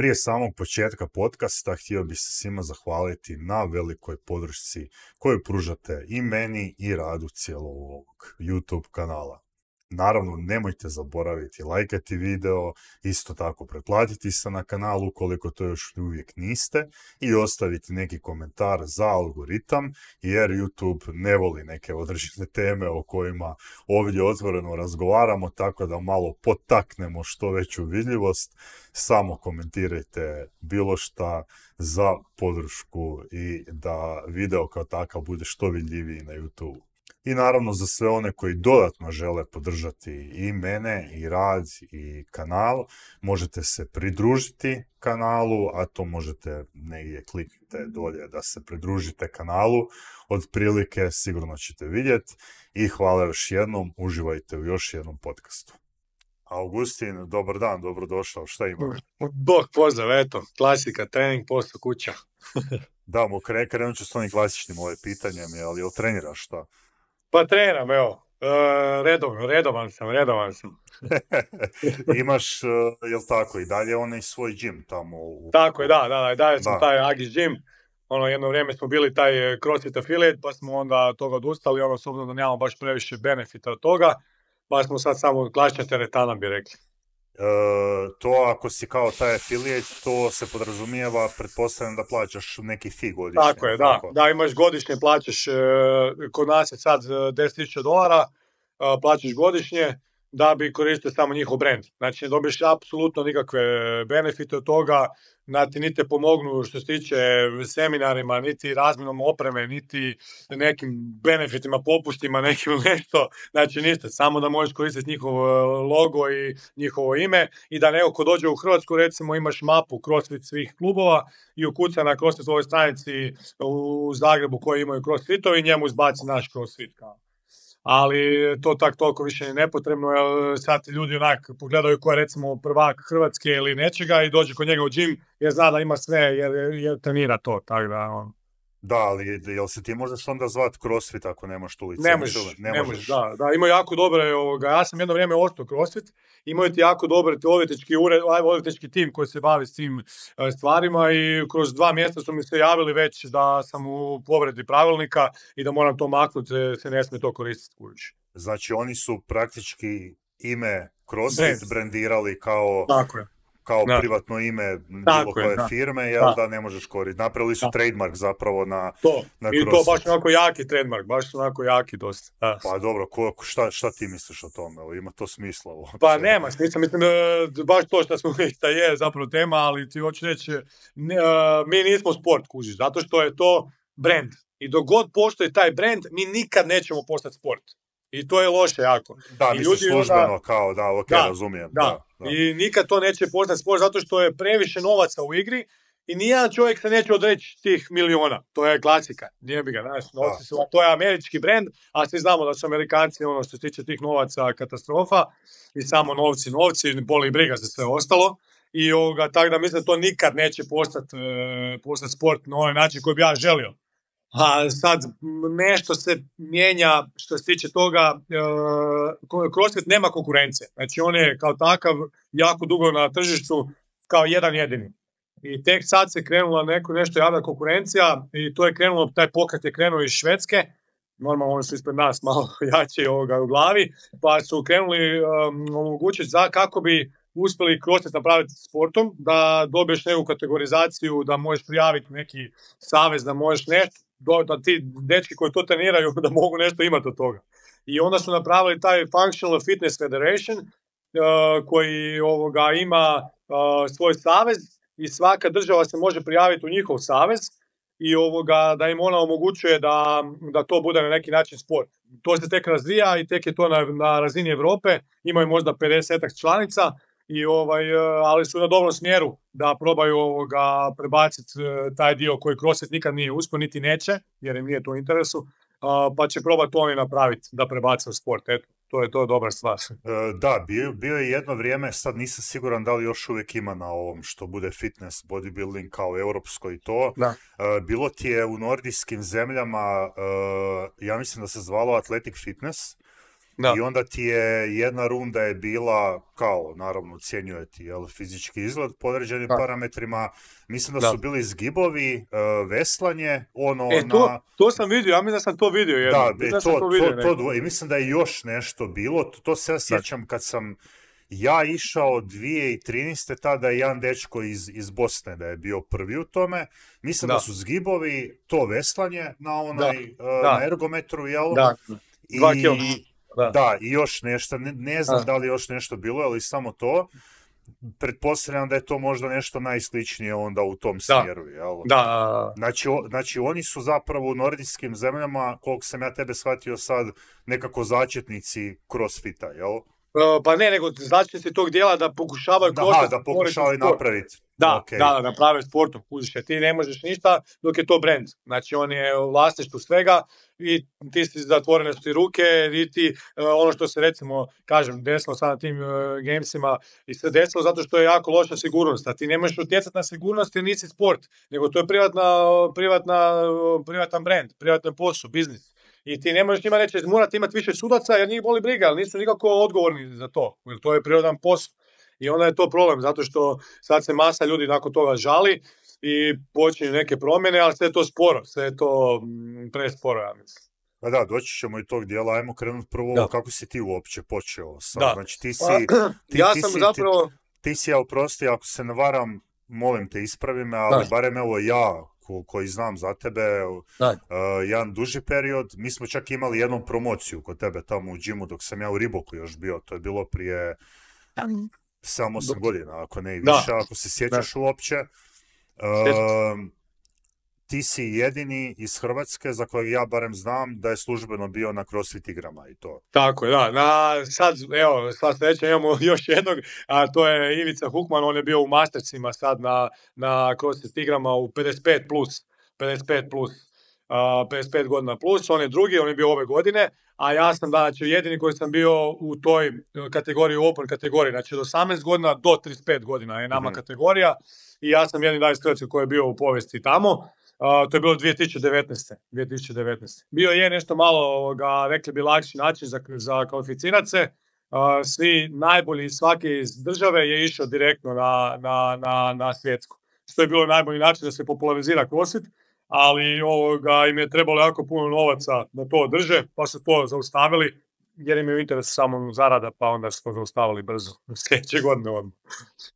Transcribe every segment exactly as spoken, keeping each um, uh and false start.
Prije samog početka podcasta htio bih se svima zahvaliti na velikoj podršci koju pružate i meni i radu cijelog ovog YouTube kanala. Naravno, nemojte zaboraviti lajkati video, isto tako pretplatiti se na kanalu ukoliko to još uvijek niste i ostaviti neki komentar za algoritam, jer YouTube ne voli neke određene teme o kojima ovdje otvoreno razgovaramo, tako da malo potaknemo što veću vidljivost. Samo komentirajte bilo šta za podršku i da video kao takav bude što vidljiviji na YouTube. I naravno za sve one koji dodatno žele podržati i mene, i rad, i kanal, možete se pridružiti kanalu, a to možete negdje kliknite dolje da se pridružite kanalu. Otprilike sigurno ćete vidjeti i hvala još jednom, uživajte u još jednom podcastu. Augustin, dobar dan, dobrodošao, šta ima? Bog pozdrav, eto, klasika, trening, posao, kuća. Da, mu kre, krenut ću s onim klasičnim ove pitanjem, ali jel treniraš šta? Pa treniram, evo, e, redovan, redovan sam, redovan sam. Imaš, jel tako, i dalje onaj svoj gym tamo? U... Tako je, da, da, da, dalje sam da. taj Agis gym. Ono, jedno vrijeme smo bili taj CrossFit affiliate, pa smo onda toga odustali, ono, s obzirom da nemamo baš previše benefita od toga, pa smo sad samo klasična teretana, bi rekli. E, to ako si kao taj affiliate, to se podrazumijeva, pretpostavljam da plaćaš neki fee godišnje. Tako je, da, tako. Da, imaš godišnje, plaćaš, e, kod nas je sad deset tisuća dolara, e, plaćaš godišnje, da bi koristio samo njihov brand. Znači, ne dobiješ apsolutno nikakve benefite od toga, niti ni te pomognu što se tiče seminarima, niti razmjenom opreme, niti nekim benefitima, popustima, nekim nešto. Znači, ništa, samo da možeš koristiti njihov logo i njihovo ime i da neko ko dođe u Hrvatsku, recimo, imaš mapu CrossFit svih klubova i ukuca na CrossFit ovoj stranici u Zagrebu koji imaju CrossFitovi i njemu izbaci naš CrossFit kao. Ali to tak toliko više je nepotrebno, jer sad ljudi onak pogledaju ko je recimo prvak Hrvatske ili nečega i dođe kod njega u gym jer zna da ima sve, jer, jer trenira to, tako da on... Da, ali jel se ti možeš onda zvat CrossFit ako nemaš tu licencu? Ne možeš, ne, ne možeš, da, da, imaju jako dobre, ovoga, ja sam jedno vrijeme ostao CrossFit, imaju ti jako dobre odvjetnički ured, odvjetnički tim koji se bavi s tim stvarima i kroz dva mjeseca su mi se javili već da sam u povredi pravilnika i da moram to maknuti, se ne smije to koristiti kući. Znači oni su praktički ime CrossFit brandirali kao... Tako je. kao da. privatno ime bilo koje da. firme, jel da. da ne možeš koristiti. Napravili su da. trademark zapravo na, to. na I to baš onako jaki trademark, baš onako jaki dosta. Da. Pa dobro, ko, šta, šta ti misliš o tome? Ima to smisla? Uopće? Pa nema smisla, mislim, baš to što smo da je zapravo tema, ali ti hoću reći, ne, mi nismo sport, kužiš, zato što je to brand. I dok god postoji taj brand, mi nikad nećemo postati sport. I to je loše jako. Da, misliš službeno onda, kao, da, ok, da, razumijem. Da. Da, da. I nikad to neće postati sport zato što je previše novaca u igri i nijedan čovjek se neće odreći tih miliona. To je klasika. Nije bi ga, znaš, novci su, to je američki brand, a svi znamo da su Amerikanci, ono što se tiče tih novaca, katastrofa i samo novci, novci, boli briga za sve ostalo. I ovoga, tako da mislim da to nikad neće postati, e, postati sport na ovaj način koji bi ja želio. A sad nešto se mijenja što se tiče toga, e, CrossFit nema konkurencije. Znači on je kao takav jako dugo na tržištu kao jedan jedini. I tek sad se krenula neko, nešto javna konkurencija i to je krenulo, taj pokret je krenuo iz Švedske. Normalno oni su ispred nas malo jači ovoga u glavi, pa su krenuli um, omogućiti za kako bi uspjeli CrossFit napraviti sportom, da dobiješ neku kategorizaciju, da možeš prijaviti neki savez, da možeš nešto, da ti dečki koji to treniraju da mogu nešto imati od toga. I onda su napravili taj Functional Fitness Federation uh, koji ovoga ima uh, svoj savez i svaka država se može prijaviti u njihov savez i ovoga, da im ona omogućuje da, da to bude na neki način sport. To se tek razvija i tek je to na, na razini Europe, imaju možda pedeset članica, i ovaj, ali su na dobrom smjeru da probaju ovoga prebaciti taj dio koji CrossFit nikad nije uspio, niti neće, jer im nije to u interesu, pa će probati to oni napraviti da prebace u sport. Eto, to je to dobra stvar. Da, bio, bio je jedno vrijeme, sad nisam siguran da li još uvijek ima na ovom što bude fitness, bodybuilding kao europsko i to. Da. Bilo ti je u nordijskim zemljama, ja mislim da se zvalo Athletic Fitness, Da. I onda ti je jedna runda je bila kao, naravno, ocjenjuje ti jel, fizički izgled po određenim Da. parametrima. Mislim da, Da. su bili zgibovi, uh, veslanje, ono E, to, na... to sam vidio, ja mislim da sam to vidio jednom. Da, Mislim e, da sam to, to to, vidio to, nekako. dvo- i mislim da je još nešto bilo. To, to se ja sjećam kad sam ja išao dvije tisuće trinaeste. tada je jedan dečko iz, iz Bosne da je bio prvi u tome. Mislim da, Da. su zgibovi to veslanje na onaj, uh, Da. na ergometru, jel? Da, I, dva kila. Da. da, i još nešto, ne, ne znam Da. da li još nešto bilo, ali samo to. Pretpostavljam da je to možda nešto najsličnije onda u tom smjeru, jel? Da, Znači, o, znači, oni su zapravo u nordijskim zemljama, koliko sam ja tebe shvatio sad, nekako začetnici crossfita, jel? Uh, pa ne, nego začetnici tog dijela da pokušavaju Da, crossfit da pokušavaju sport. napraviti. Da, okay. da, da, naprave sportom, kužiš, jer ti ne možeš ništa dok je to brand. Znači, on je u vlasništvu svega i ti si zatvorene su ti ruke i ti, uh, ono što se recimo, kažem, desilo sad na tim uh, gamesima i se desilo zato što je jako loša sigurnost, a ti ne možeš utjecati na sigurnost jer nisi sport, nego to je privatna, privatna, privatan brand, privatan posao, biznis. I ti ne možeš njima reći, morate imati više sudaca jer njih boli briga, ali nisu nikako odgovorni za to, jer to je prirodan posao. I onda je to problem, zato što sad se masa ljudi nakon toga žali i počinju neke promjene, ali sve je to sporo, sve je to mm, presporo, ja mislim. Pa da, doći ćemo i tog dijela, ajmo krenuti prvo, Da. kako si ti uopće počeo sam. Da. Znači ti si, Pa, ti, ja ti sam si, zapravo... ti, ti si, ja oprosti, ako se ne varam, molim te ispravi me, ali Da. barem evo ja, ko, koji znam za tebe, Da. uh, jedan duži period, mi smo čak imali jednu promociju kod tebe tamo u džimu dok sam ja u Riboku još bio, to je bilo prije samo osam Dok- godina, ako ne i Da. više, ako se sjećaš uopće. Sjećam Um, ti si jedini iz Hrvatske za kojeg ja barem znam da je službeno bio na CrossFit igrama i to. Tako je, da. Na, sad, evo, sad sreća imamo još jednog, a to je Ivica Hukman, on je bio u Mastersima sad na, na CrossFit igrama u pedeset pet plus, pedeset pet plus, uh, pedeset pet godina plus, on je drugi, on je bio ove godine, a ja sam znači jedini koji sam bio u toj kategoriji, open kategoriji, znači od osamnaest godina do trideset pet godina je nama Mhm. kategorija i ja sam jedini danas Hrvatski koji je bio u povijesti tamo. Uh, to je bilo dvije tisuće devetnaeste. dvije tisuće devetnaeste. Bio je nešto malo, ovoga, rekli bi, lakši način za, za kvalificirati se. Uh, svi najbolji iz svake iz države je išao direktno na, na, na, na svjetsku. Što je bilo najbolji način da se popularizira CrossFit, ali ovoga, im je trebalo jako puno novaca da to održe, pa su to zaustavili, jer im je u interesu samo zarada, pa onda su to zaustavili brzo. Sljedeće godine odmah.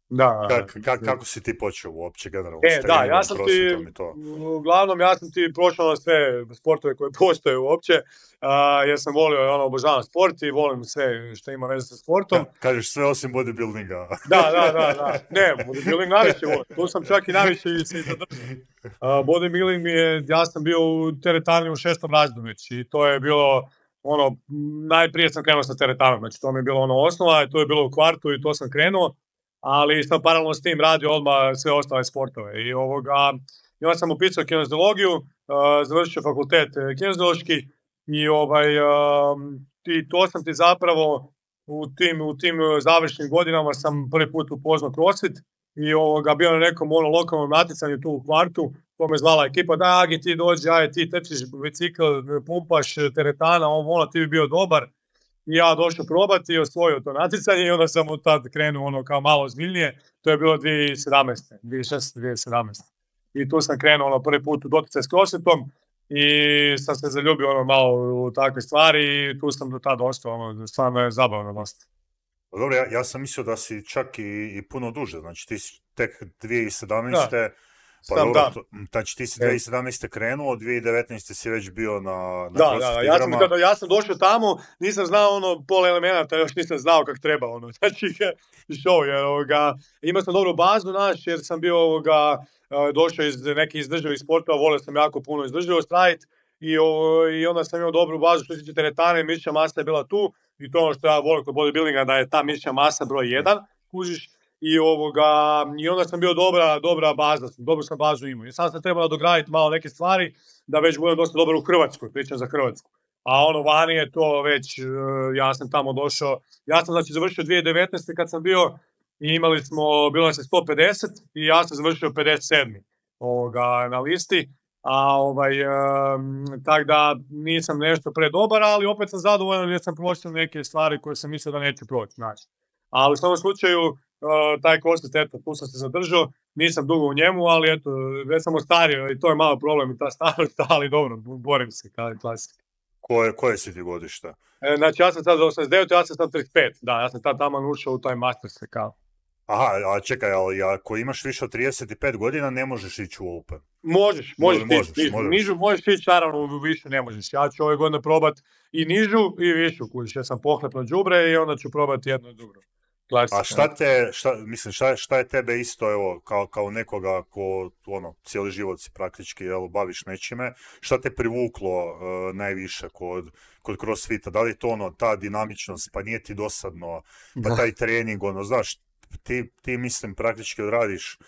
Da, Kak, kak, kako si ti počeo uopće generalno? E, s da, treningom, ja sam ti, crossfitom i to? uglavnom, ja sam ti prošao na sve sportove koje postoje uopće, uh, jer sam volio, ono, obožavam sport i volim sve što ima veze sa sportom. Ka- kažeš sve osim bodybuildinga. Da, da, da, da. Ne, bodybuilding najviše volim. Tu sam čak i najviše i se i zadržao. Uh, bodybuilding mi je, ja sam bio u teretani u šestom razredu već i to je bilo, ono, najprije sam krenuo sa teretanom, znači to mi je bilo ono osnova i to je bilo u kvartu i to sam krenuo, ali sam paralelno s tim radio odmah sve ostale sportove i ovoga, i onda sam upisao kineziologiju, uh, završio fakultet eh, kineziološki i ovaj, um, i to sam ti zapravo u tim, u tim eh, završnim godinama sam prvi put upoznao CrossFit i ovoga, bio na nekom ono lokalnom natjecanju tu u kvartu, to me zvala ekipa, da Agi ti dođi, aj ti trčiš bicikl, pumpaš teretana, ovo ono, ti bi bio dobar. I ja došao probati i osvojio to natjecanje i onda sam od tad krenuo ono kao malo ozbiljnije, to je bilo dvije tisuće sedamnaeste. dvije tisuće šesnaeste. dvije tisuće sedamnaeste. I tu sam krenuo ono prvi put u doticaj s CrossFitom i sam se zaljubio ono malo u takve stvari i tu sam do tada ostao, ono, stvarno je zabavno dosta. Pa dobro, ja, ja sam mislio da si čak i, i puno duže, znači ti si tek dvije tisuće sedamnaeste. Pa Sam dobro, da. to, znači ti si E. dvije tisuće sedamnaeste krenuo, dvije tisuće devetnaeste si već bio na, na Da, CrossFit da, ja sam, igrama. kada, ja sam došao tamo, nisam znao ono pol elemenata, još nisam znao kak treba ono, znači show, jer ovoga, imao sam dobru bazu naš, jer sam bio ovoga, e, došao iz nekih izdržljivih sportova, volio sam jako puno izdržljivost raditi i, o, i onda sam imao dobru bazu što se tiče teretane, mišićna masa je bila tu i to ono što ja volim kod bodybuildinga, da je ta mišićna masa broj jedan, kužiš, i ovoga, i onda sam bio dobra, dobra baza, dobru sam bazu imao. I sam sam trebao nadograditi malo neke stvari da već budem dosta dobar u Hrvatskoj, pričam za Hrvatsku. A ono vani je to već, uh, ja sam tamo došao, ja sam znači završio dvije tisuće devetnaeste kad sam bio i imali smo, bilo nas je sto pedeset i ja sam završio pedeset sedmi ovoga, na listi. a ovaj, um, tak da nisam nešto predobar, ali opet sam zadovoljan jer sam prošao neke stvari koje sam mislio da neću proći, znači. Ali u svom slučaju, uh, taj CrossFit, eto, tu sam se zadržao, nisam dugo u njemu, ali eto, već sam ostario i to je malo problem i ta starost, ali dobro, borim se, kao je klasika. Koje, koje si ti godišta? E, znači, ja sam sad osamdeset devet, ja sam sad trideset pet, da, ja sam tad tamo ušao u taj master se kao. Aha, a čekaj, ali ako imaš više od trideset pet godina, ne možeš ići u Open. Možeš, možeš, možeš, možeš, nižu, možeš. nižu možeš ići, naravno u više ne možeš. Ja ću ove godine probat i nižu i višu, kužiš, ja sam pohlepno đubre i onda ću probati jedno i drugo. Klasika. A šta te, šta, mislim, šta, šta je tebe isto, evo, kao, kao nekoga ko, ono, cijeli život si praktički, jel, baviš nečime, šta te privuklo uh, najviše kod, kod CrossFita? Da li je to ono, ta dinamičnost, pa nije ti dosadno, pa Da. taj trening, ono, znaš, ti, ti mislim, praktički odradiš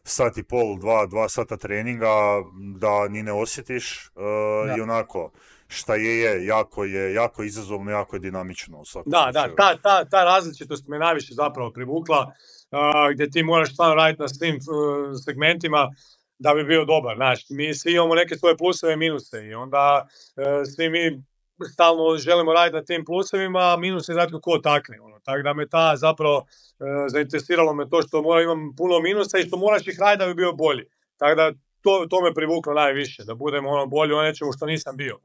sat i pol, dva, dva sata treninga, da ni ne osjetiš uh, i onako, šta je, je, jako je, jako izazovno, jako je dinamično u svakom Da, slučaju. da, ta, ta, ta različitost me najviše zapravo privukla, uh, gdje ti moraš stvarno raditi na svim uh, segmentima da bi bio dobar, znaš, mi svi imamo neke svoje pluseve i minuse i onda uh, svi mi stalno želimo raditi na tim plusevima, a minus je znatko ko takne, ono, tako da me ta zapravo uh, zainteresiralo me to što mora, imam puno minusa i što moraš ih raditi da bi bio bolji, tako da to, to me privuklo najviše, da budem ono bolji o nečemu što nisam bio.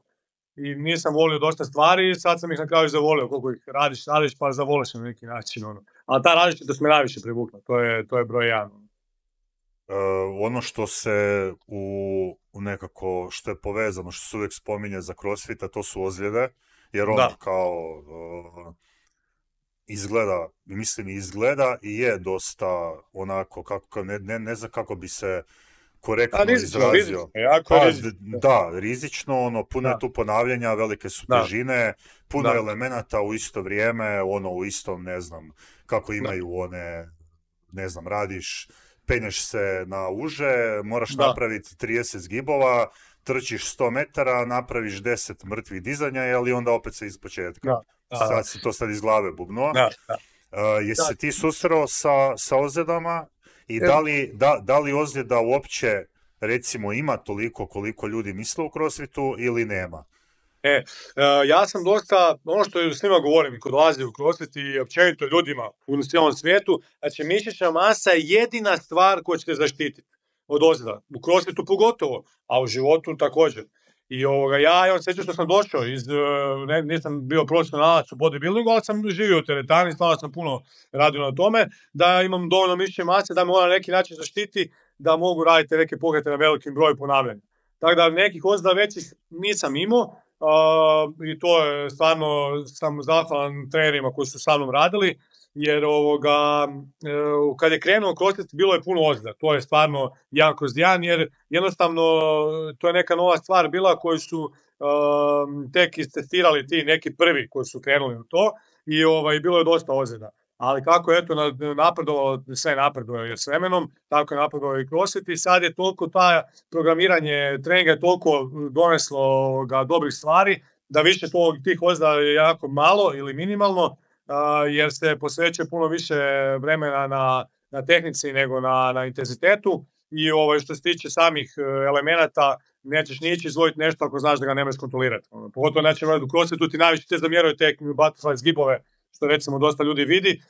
I nisam volio dosta stvari i sad sam ih na kraju zavolio, koliko ih radiš, radiš pa zavoliš na neki način. Ono. Ali ta različitost me najviše privukla, to je, to je broj jedan. Uh, ono što se u, u nekako, što je povezano, što se uvijek spominje za CrossFita, to su ozljede, jer on da. kao uh, izgleda, mislim izgleda i je dosta onako, kako, ne, ne, ne znam kako bi se korektno A, rizično, izrazio. Rizično, jako pa, rizično. Da, rizično, ono, puno da. je tu ponavljanja, velike su da. težine, puno da. elemenata u isto vrijeme, ono, u istom, ne znam, kako imaju da. one, ne znam, radiš, penješ se na uže, moraš da. napraviti trideset zgibova, trčiš sto metara, napraviš deset mrtvih dizanja, ali onda opet se iz početka. Da. Da. Sad si to sad iz glave bubnuo. Da. Da. Uh, jesi se ti susreo sa, sa ozljedama? I da li, da, da li ozljeda uopće, recimo, ima toliko koliko ljudi misle u CrossFitu ili nema? E, ja sam dosta, ono što s njima govorim, ko dolazi u CrossFit i općenito ljudima u cijelom svijetu, znači mišićna masa je jedina stvar koja će te zaštititi od ozljeda. U CrossFitu pogotovo, a u životu također. I ovoga, ja imam sreću što sam došao, iz, ne, nisam bio profesionalac u bodybuildingu, ali sam živio u teretani, stvarno sam puno radio na tome, da imam dovoljno mišićne mase, da me ona na neki način zaštiti, da mogu raditi neke pokrete na velikim broju ponavljanja. Tako da nekih ozljeda većih nisam imao, uh, i to je stvarno, sam zahvalan trenerima koji su sa mnom radili, jer ovoga, uh, kad je krenuo CrossFit bilo je puno ozljeda, to je stvarno jedan kroz jedan, jer jednostavno to je neka nova stvar bila koju su uh, tek istestirali ti neki prvi koji su krenuli u to i ovaj, bilo je dosta ozljeda. Ali kako je eto napredovalo, sve napredovalo s vremenom, tako je napredovalo i CrossFit i sad je toliko ta programiranje treninga je toliko doneslo ga dobrih stvari, da više to, tih ozljeda je jako malo ili minimalno, uh, jer se posvećuje puno više vremena na, na tehnici nego na, na intenzitetu i ovaj, što se tiče samih elemenata, nećeš nići izvojiti nešto ako znaš da ga nemaš kontrolirati. Ono, pogotovo neće u CrossFitu ti najviše te zamjeraju te butterfly zgibove, što recimo dosta ljudi vidi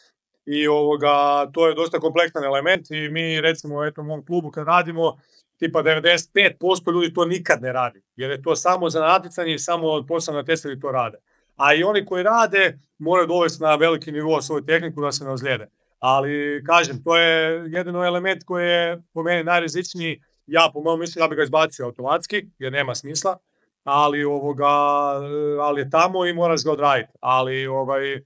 i ovoga, to je dosta kompleksan element i mi recimo eto, u mom klubu kad radimo, tipa devedeset pet posto ljudi to nikad ne radi, jer je to samo za natjecanje i samo posebno natjecatelji to rade. A i oni koji rade moraju dovesti na veliki nivo svoju tehniku da se ne ozlijede. Ali kažem, to je jedino element koji je po meni najrizičniji, ja po mojom mišljenju ja bi ga izbacio automatski jer nema smisla, ali, ovoga, ali je tamo i moraš ga odraditi. Ali ovaj,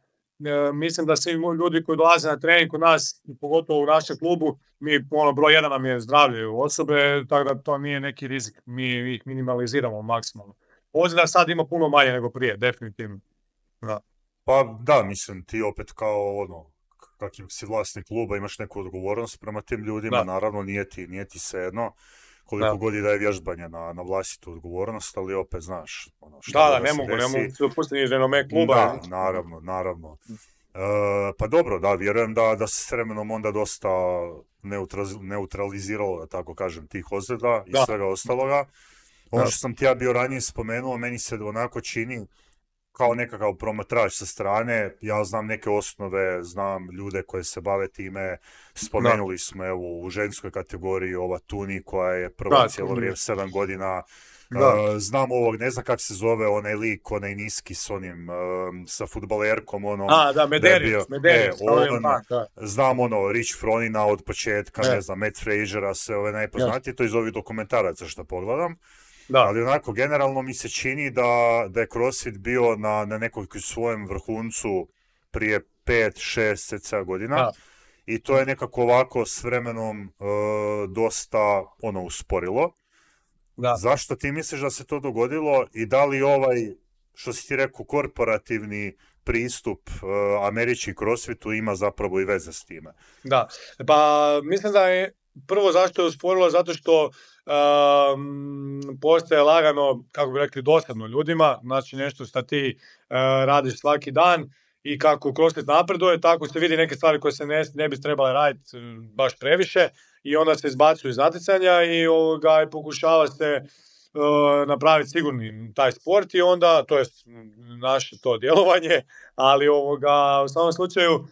mislim da svi ljudi koji dolaze na trening kod nas, pogotovo u našem klubu, mi ono, broj jedan nam je zdravlje osobe, tako da to nije neki rizik, mi ih minimaliziramo maksimalno. Ozljeda sad ima puno manje nego prije, definitivno. Da. Pa da, mislim, ti opet kao ono, kakvi si vlasnik kluba, imaš neku odgovornost prema tim ljudima, da. Naravno nije ti, nije ti svejedno koliko da. God je da je vježbanje na, na vlastitu odgovornost, ali opet znaš ono, šta da, da, da, ne mogu, ne mogu se opustiti renome kluba. Da, naravno, naravno. E, pa dobro, da, vjerujem da, da se s vremenom onda dosta neutraliziralo, da tako kažem, tih ozljeda i da. Svega ostaloga. Ono Da. što sam ti ja bio ranije spomenuo, meni se onako čini kao nekakav promatrač sa strane. Ja znam neke osnove, znam ljude koje se bave time. Spomenuli smo evo u ženskoj kategoriji ova Tuni koja je prva Da, cijelo Tuni. vrijeme, sedam godina. Da. Uh, znam ovog, ne znam kako se zove, onaj lik, onaj niski s onim, uh, sa fudbalerkom, onom. A, da, da je Mederić, bio- Mederić, e, sa ovim on, pan, da. znam ono, Rich Fronina od početka, E. ne znam, Matt Frasera, sve ove najpoznatije, to iz ovih dokumentaraca što pogledam. Da, Ali onako, generalno mi se čini da, da je CrossFit bio na, na nekoj svojem vrhuncu prije pet, šest, sedam godina. da. I to je nekako ovako s vremenom e, dosta ono usporilo. Da. Zašto ti misliš da se to dogodilo i da li ovaj, što si ti rekao, korporativni pristup e, američki CrossFitu ima zapravo i veze s time? Da, pa mislim da je prvo zašto je usporilo, zato što um, postaje lagano, kako bi rekli, dosadno ljudima, znači nešto što ti uh, radiš svaki dan i kako CrossFit napreduje, tako se vidi neke stvari koje se ne, ne bi trebale raditi uh, baš previše i onda se izbacuju iz natjecanja i, ovoga, i pokušava se uh, napraviti sigurni taj sport i onda, to je naše to djelovanje, ali ovoga, u samom slučaju uh,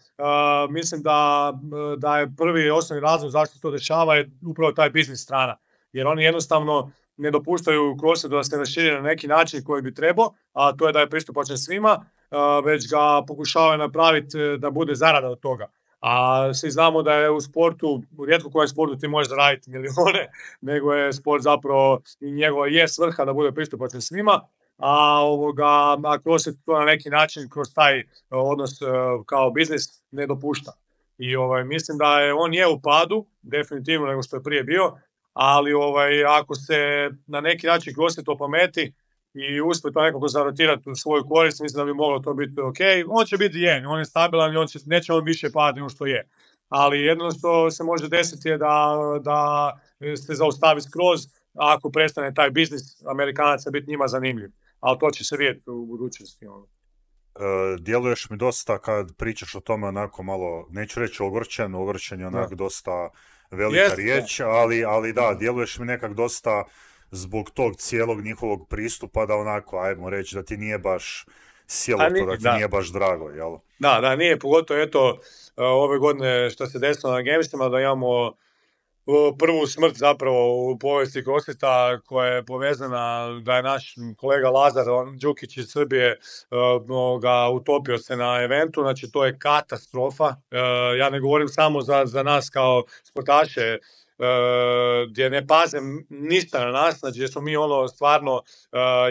mislim da, da je prvi i osnovni razlog zašto se to dešava je upravo taj biznis strana. Jer oni jednostavno ne dopuštaju CrossFitu da se raširi na neki način koji bi trebao, a to je da je pristupačan svima, uh, već ga pokušavaju napraviti da bude zarada od toga. A svi znamo da je u sportu, u rijetko kojem sportu ti možeš zaraditi milijone, nego je sport zapravo i njegova je svrha da bude pristupačan svima, a, ovoga, a CrossFit to na neki način kroz taj odnos kao biznis ne dopušta. I ovaj, mislim da je on je u padu, definitivno nego što je prije bio, ali ovaj, ako se na neki način CrossFit opameti i uspije to nekako zarotirati u svoju korist, mislim da bi moglo to biti ok. On će biti jen, on je stabilan i on će, neće on više padati nego što je. Ali jedno što se može desiti je da, da se zaustavi skroz ako prestane taj biznis Amerikanaca biti njima zanimljiv. Ali to će se vidjeti u budućnosti. Ono. Uh, djeluješ mi dosta kad pričaš o tome onako malo, neću reći ogorčen, ogorčen je onak Da. dosta velika Jeste. riječ, ali, ali da, djeluješ mi nekak dosta zbog tog cijelog njihovog pristupa da onako, ajmo reći, da ti nije baš sjelo A ni- to, da ti da. nije baš drago, jel? Da, da, nije, pogotovo eto ove godine što se desilo na Gamesima, da imamo uh, prvu smrt zapravo u povijesti CrossFita koja je povezana da je naš kolega Lazar on, Đukić iz Srbije uh, ga utopio se na eventu, znači to je katastrofa. Uh, ja ne govorim samo za, za nas kao sportaše, Uh, gdje ne paze ništa na nas, znači gdje smo mi ono stvarno uh,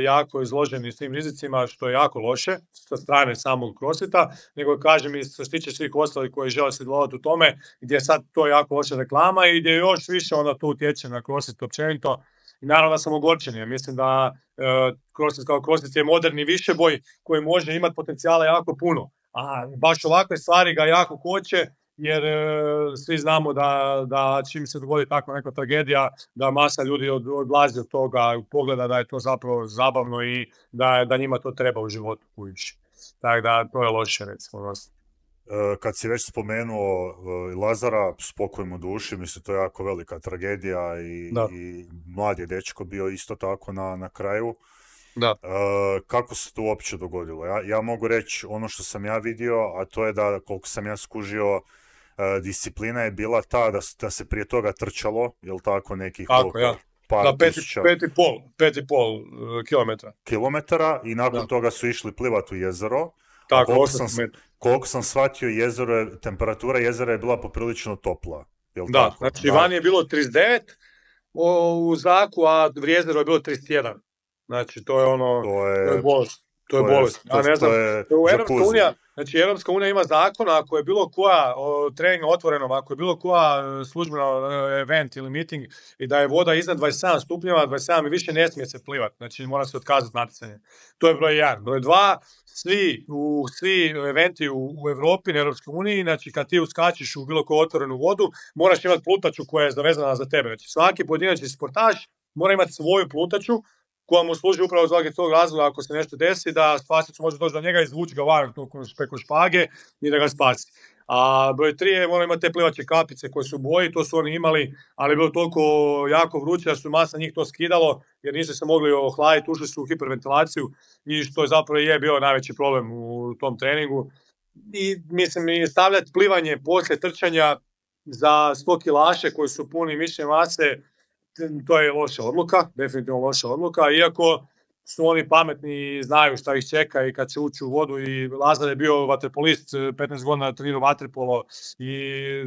jako izloženi s tim rizicima, što je jako loše sa strane samog CrossFita, nego kažem i što se tiče svih ostalih koji žele sudjelovati u tome, gdje sad to je jako loša reklama i gdje još više onda to utječe na CrossFit općenito. I naravno da sam ogorčen, ja mislim da uh, CrossFit kao CrossFit je moderni višeboj koji može imati potencijala jako puno, a baš ovakve stvari ga jako koče, jer e, svi znamo da, da čim se dogodi takva neka tragedija, da masa ljudi od, odlazi od toga, pogleda da je to zapravo zabavno i da, da njima to treba u životu kući. Tako da to je loše, recimo. Kad si već spomenuo Lazara, spokoj mu duši, mislim to je jako velika tragedija i, i mlad je dečko bio isto tako na, na kraju. Da. Uh, kako se to uopće dogodilo? Ja, ja mogu reći ono što sam ja vidio, a to je da koliko sam ja skužio, uh, disciplina je bila ta da, da se prije toga trčalo, jel tako, nekih tako, koliko, ja. par da, pet, tisuća pet i pol, pet i pol uh, kilometra. kilometara i nakon da. toga su išli plivati u jezero. Tako, koliko, sam, koliko sam shvatio, jezero je, temperatura jezera je bila poprilično topla. Jel da, tako? znači van je bilo trideset devet u zraku, a u jezeru je bilo trideset jedan. Znači, to je ono, to je, to je bolest. To je to bolest. Je, to, ja ne znam, to je u Europska unija, znači Europska unija ima zakon, ako je bilo koja o, trening otvoreno, ako je bilo koja službeno event ili meeting i da je voda iznad dvadeset sedam stupnjeva, dvadeset sedam i više ne smije se plivati, znači mora se otkazati natjecanje. To je broj jedan. Broj dva, svi, u, svi eventi u, u Europi, na Europskoj uniji, znači kad ti uskačiš u bilo koju otvorenu vodu, moraš imati plutaču koja je zavezana za tebe. Znači svaki pojedinačni sportaš mora imati svoju plutaču koja mu služi upravo zbog tog razloga ako se nešto desi, da spasilac može doći do njega, izvući ga van preko špage i da ga spasi. A broj tri je, moramo imati te plivače kapice koje su u boji, to su oni imali, ali je bilo toliko jako vruće da su masa njih to skidalo, jer nisu se mogli ohladiti, ušli su u hiperventilaciju i što je zapravo je bio najveći problem u tom treningu. I mislim, i stavljati plivanje poslije trčanja za sto kilaše koji su puni mišićne mase, to je loša odluka, definitivno loša odluka, iako su oni pametni i znaju šta ih čeka i kad će ući u vodu i Lazar je bio vaterpolist, petnaest godina trenirao vaterpolo i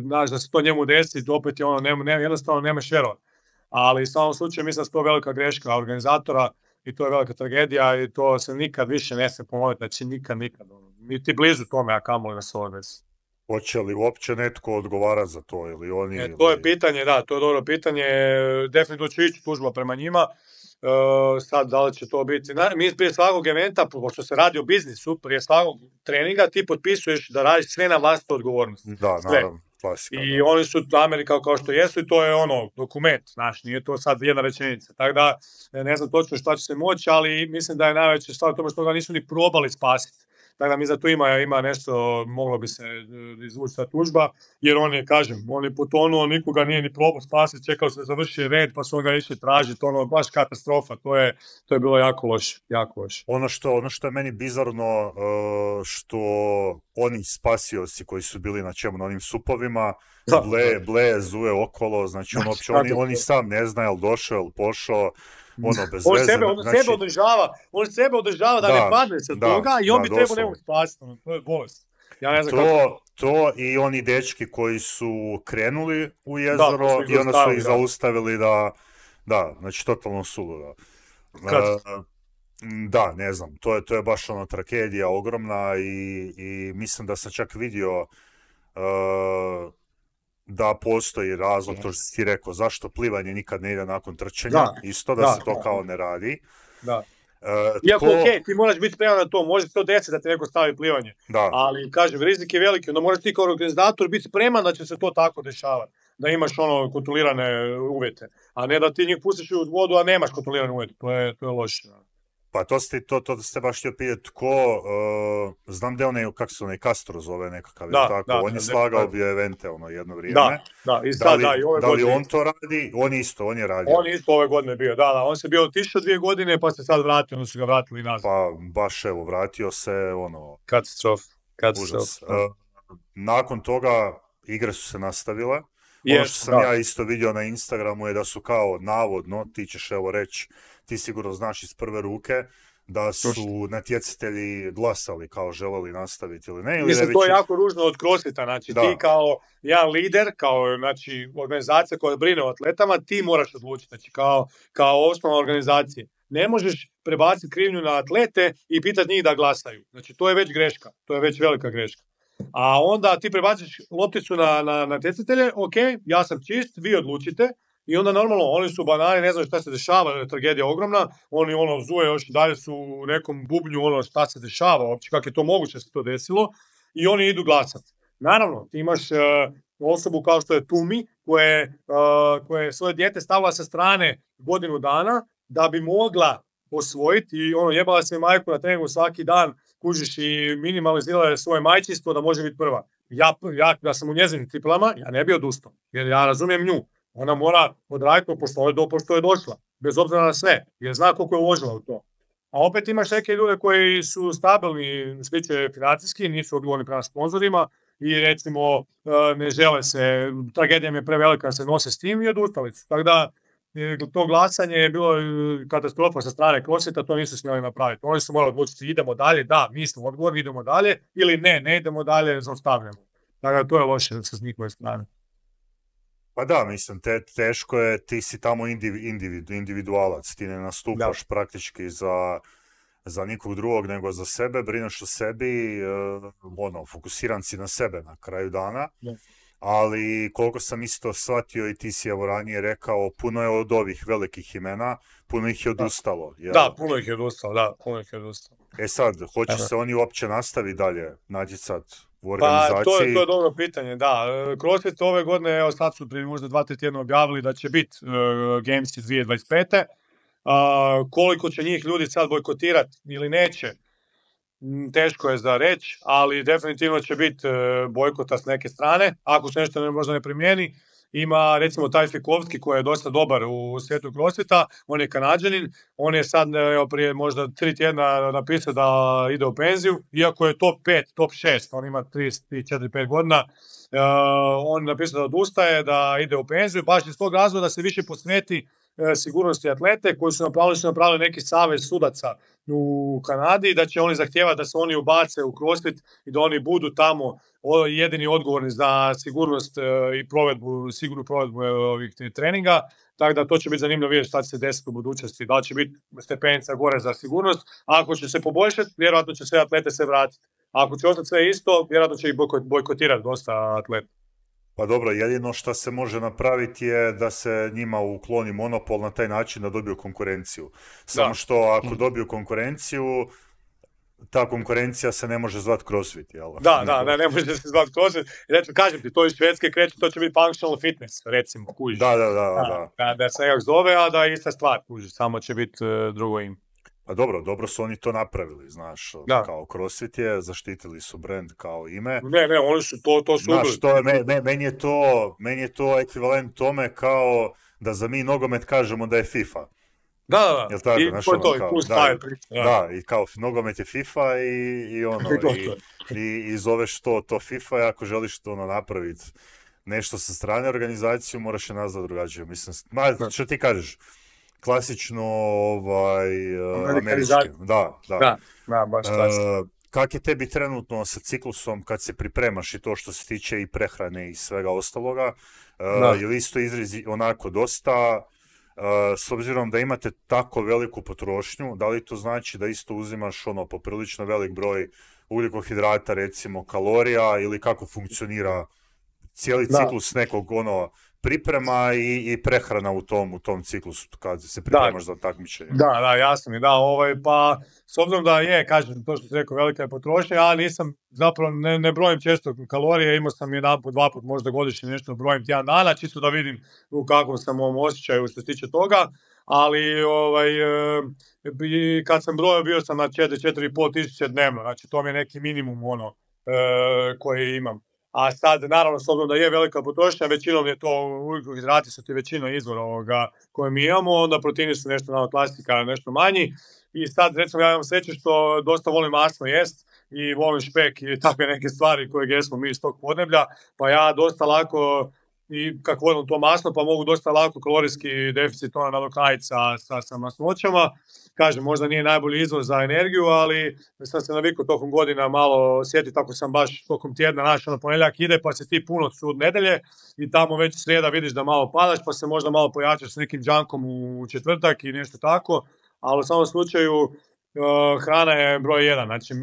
znaš da se to njemu desi, opet je ono, ne, ne, jednostavno nemaš vjerovati. Ali u svakom slučaju mislim da je to velika greška organizatora i to je velika tragedija i to se nikad više ne smije ponoviti, znači nikad, nikad, niti blizu tome, a kamoli na svoj desi. Hoće li uopće netko odgovarati za to ili oni? E, to je pitanje, da, to je dobro pitanje, definitivno će ići tužba prema njima. Uh, sad da li će to biti, mi prije svakog eventa, pošto se radi o biznisu, prije svakog treninga ti potpisuješ da radiš sve na vlastitu odgovornost. Da, sve. Naravno, klasika. I da. oni su Amerika kao što jesu i to je ono, dokument, znaš, nije to sad jedna rečenica. Tako da, ne znam točno šta će se moći, ali mislim da je najveća stvar u tome što ga nisu ni probali spasiti. Tako da mi za to ima, ima nešto, moglo bi se izvući ta tužba, jer on je, kažem, on je potonuo, nikoga nije ni probao spasiti, čekao se da završi red, pa su ga išli tražiti, ono, baš katastrofa, to je, to je bilo jako loše, jako loše. Ono što, ono što je meni bizarno, što oni spasioci koji su bili na čemu, na onim supovima, da, ble, ble, zuje okolo, znači on, uopće, oni, oni sam ne znaju, jel došao, jel pošao, ono, bez on veze. Sebe, on znači, sebe održava, on sebe održava da, da ne padne sa da, toga i on da, bi trebao nekog spasiti, to je bolest. Ja ne znam to, kako... to i oni dečki koji su krenuli u jezero da, i onda su ih da. zaustavili da, da, znači totalno suludo. Uh, da, ne znam, to je, to je baš ono tragedija ogromna i, i mislim da sam čak vidio uh, da postoji razlog, to što si ti rekao, zašto plivanje nikad ne ide nakon trčanja, da, isto da, da se to da, kao ne radi. Da. Uh, Iako, tko... ok, ti moraš biti spreman na to, može se to desiti da ti neko stavi plivanje, da. Ali, kažem, rizik je veliki, onda moraš ti kao organizator biti spreman da će se to tako dešavati, da imaš ono kontrolirane uvjete, a ne da ti njih pustiš u vodu, a nemaš kontrolirane uvjete, to je, to je loše. Pa to ste, to, to ste baš htio pitati tko, uh, znam da je onaj, kako se onaj Castro zove nekakav, da, tako, da, on je slagao bio evente ono jedno vrijeme. Da, da, i sad, da li, da, i ove da li godine... on to radi? On isto, on je radio. On isto ove godine bio, da, da, on se bio otišao dvije godine pa se sad vratio, onda su ga vratili nazad. Pa baš evo, vratio se, ono... Katastrof, katastrof. Uh, nakon toga igre su se nastavile. Yes, ono što sam da. ja isto vidio na Instagramu je da su kao navodno, ti ćeš evo reći, ti sigurno znaš iz prve ruke, da su natjecatelji glasali kao želeli nastaviti ili ne. Ili Mislim, već... to je jako ružno od CrossFita, znači da. Ti kao jedan lider, kao znači, organizacija koja brine o atletama, ti moraš odlučiti, znači kao, kao osnovna organizacija. Ne možeš prebaciti krivnju na atlete i pitati njih da glasaju. Znači, to je već greška, to je već velika greška. A onda ti prebaciš lopticu na, na natjecatelje, ok, ja sam čist, vi odlučite, i onda normalno, oni su banani, ne znaju šta se dešava, je tragedija ogromna, oni ono zuje još dalje su u nekom bubnju ono šta se dešava, uopće kako je to moguće da se to desilo, i oni idu glasati. Naravno, ti imaš uh, osobu kao što je Tumi, koje, uh, koje svoje dijete stavila sa strane godinu dana, da bi mogla osvojiti i ono jebala se majku na treningu svaki dan, kužiš i minimalizirala svoje majčinstvo da može biti prva. Ja, ja da sam u njezinim cipelama, ja ne bi odustao, jer ja razumijem nju. Ona mora odraditi pošto je, do, pošto je došla, bez obzira na sve, jer zna koliko je uložila u to. A opet imaš neke ljude koji su stabilni, sliče financijski, nisu odgovorni prema sponzorima i recimo ne žele se, tragedija mi je prevelika da se nose s tim i odustali su. Tako da to glasanje je bilo katastrofa sa strane CrossFita, to nisu smjeli napraviti. Oni su morali odlučiti idemo dalje, da, mi smo odgovorni, idemo dalje, ili ne, ne idemo dalje, zaustavljamo. Tako da to je loše sa njihove strane. Pa da, mislim, te, teško je, ti si tamo indiv, individu, individualac, ti ne nastupaš da. praktički za, za nikog drugog nego za sebe, brineš o sebi, uh, ono, fokusiran si na sebe na kraju dana, da. Ali koliko sam isto shvatio i ti si evo ranije rekao, puno je od ovih velikih imena, puno ih je odustalo. Jel? Da, puno ih je odustalo, da, puno ih je odustalo. E sad, hoće se oni uopće nastaviti dalje natjecati u organizaciji? Pa, to je, to je dobro pitanje, da. CrossFit ove godine, evo sad su prije možda dva, tri tjedna objavili da će biti uh, Gamesi dvije tisuće dvadeset pete. Uh, koliko će njih ljudi sad bojkotirati ili neće, teško je za reći, ali definitivno će biti bojkota s neke strane, ako se nešto ne, možda ne primijeni. Ima recimo taj Fikovski koji je dosta dobar u svijetu crossfita, on je Kanađanin, on je sad evo, prije možda tri tjedna napisao da ide u penziju, iako je top pet, top šest, on ima trideset četiri pet godina, uh, on je napisao da odustaje, da ide u penziju, baš iz tog razloga da se više posveti sigurnosti atlete koji su napravili, su napravili neki savez sudaca u Kanadi, da će oni zahtijevati da se oni ubace u CrossFit i da oni budu tamo jedini odgovorni za sigurnost i provedbu, sigurnu provedbu ovih treninga, tako da to će biti zanimljivo vidjeti šta će se desiti u budućnosti, da li će biti stepenica gore za sigurnost, a ako će se poboljšati, vjerojatno će sve atlete se vratiti. A ako će ostati sve isto, vjerojatno će ih bojkotirati dosta atleta. Pa dobro, jedino što se može napraviti je da se njima ukloni monopol na taj način da dobiju konkurenciju. Samo da. Što ako dobiju konkurenciju, ta konkurencija se ne može zvati CrossFit, jel? Da, da, da, ne može se zvati CrossFit. Recimo, kažem ti, to iz Švedske kreće, to će biti functional fitness, recimo, kužiš. Da, da, da, da. Da, da se nekak zove, a da je ista stvar, kužiš, samo će biti uh, drugo ime. A dobro, dobro su oni to napravili, znaš, da. Kao CrossFit je, zaštitili su brand kao ime. Ne, ne, oni su to, to su znaš, to je, me, me, meni je to, meni je to ekvivalent tome kao da za mi nogomet kažemo da je FIFA. Da, da, jel tako, i znaš, to je to, kao, i plus da, taj priča. Da, i kao nogomet je FIFA i, i ono, i, i, i zoveš to, to FIFA i ako želiš to ono napraviti nešto sa strane organizaciju, moraš je nazvati drugačije. Mislim, ma, što ti kažeš? Klasično ovaj, američki. Da, da. Da, da, baš klasično. Uh, kak je tebi trenutno sa ciklusom kad se pripremaš i to što se tiče i prehrane i svega ostaloga? Uh, je li isto izrezi onako dosta, uh, s obzirom da imate tako veliku potrošnju, da li to znači da isto uzimaš ono poprilično velik broj ugljikohidrata, recimo kalorija, ili kako funkcionira cijeli da. ciklus nekog ono priprema i, i prehrana u tom, u tom ciklusu kad se pripremaš da. za takmičenje. Da, da, jasno mi, da, ovaj, pa s obzirom da je, kažem, to što si rekao, velika je potrošnja, ja nisam, zapravo ne, ne brojim često kalorije, imao sam jedan put, dva put, možda godišnje nešto brojim tjedan dana, čisto da vidim u kakvom sam ovom osjećaju što se tiče toga, ali ovaj, e, kad sam brojio bio sam na četiri, četiri i pol tisuće dnevno, znači to mi je neki minimum ono e, koji imam. A sad, naravno, s obzirom da je velika potrošnja, većinom je to, ugljikohidrati su ti većina izvora ovoga koje mi imamo, onda proteini su nešto na klasika, nešto manji. I sad, recimo, ja imam sreću što dosta volim masno jest i volim špek i takve neke stvari koje jesmo mi iz tog podneblja, pa ja dosta lako, i kako volim to masno, pa mogu dosta lako kalorijski deficit ona nadoknaditi sa, sa, sa masnoćama. Kažem, možda nije najbolji izvor za energiju, ali sam se navikao tokom godina malo sjetiti, tako sam baš tokom tjedna našao, na ponedjeljak ide, pa se ti puno sud nedelje i tamo već srijeda vidiš da malo padaš, pa se možda malo pojačaš s nekim džankom u četvrtak i nešto tako, ali u samom slučaju uh, hrana je broj jedan. Znači,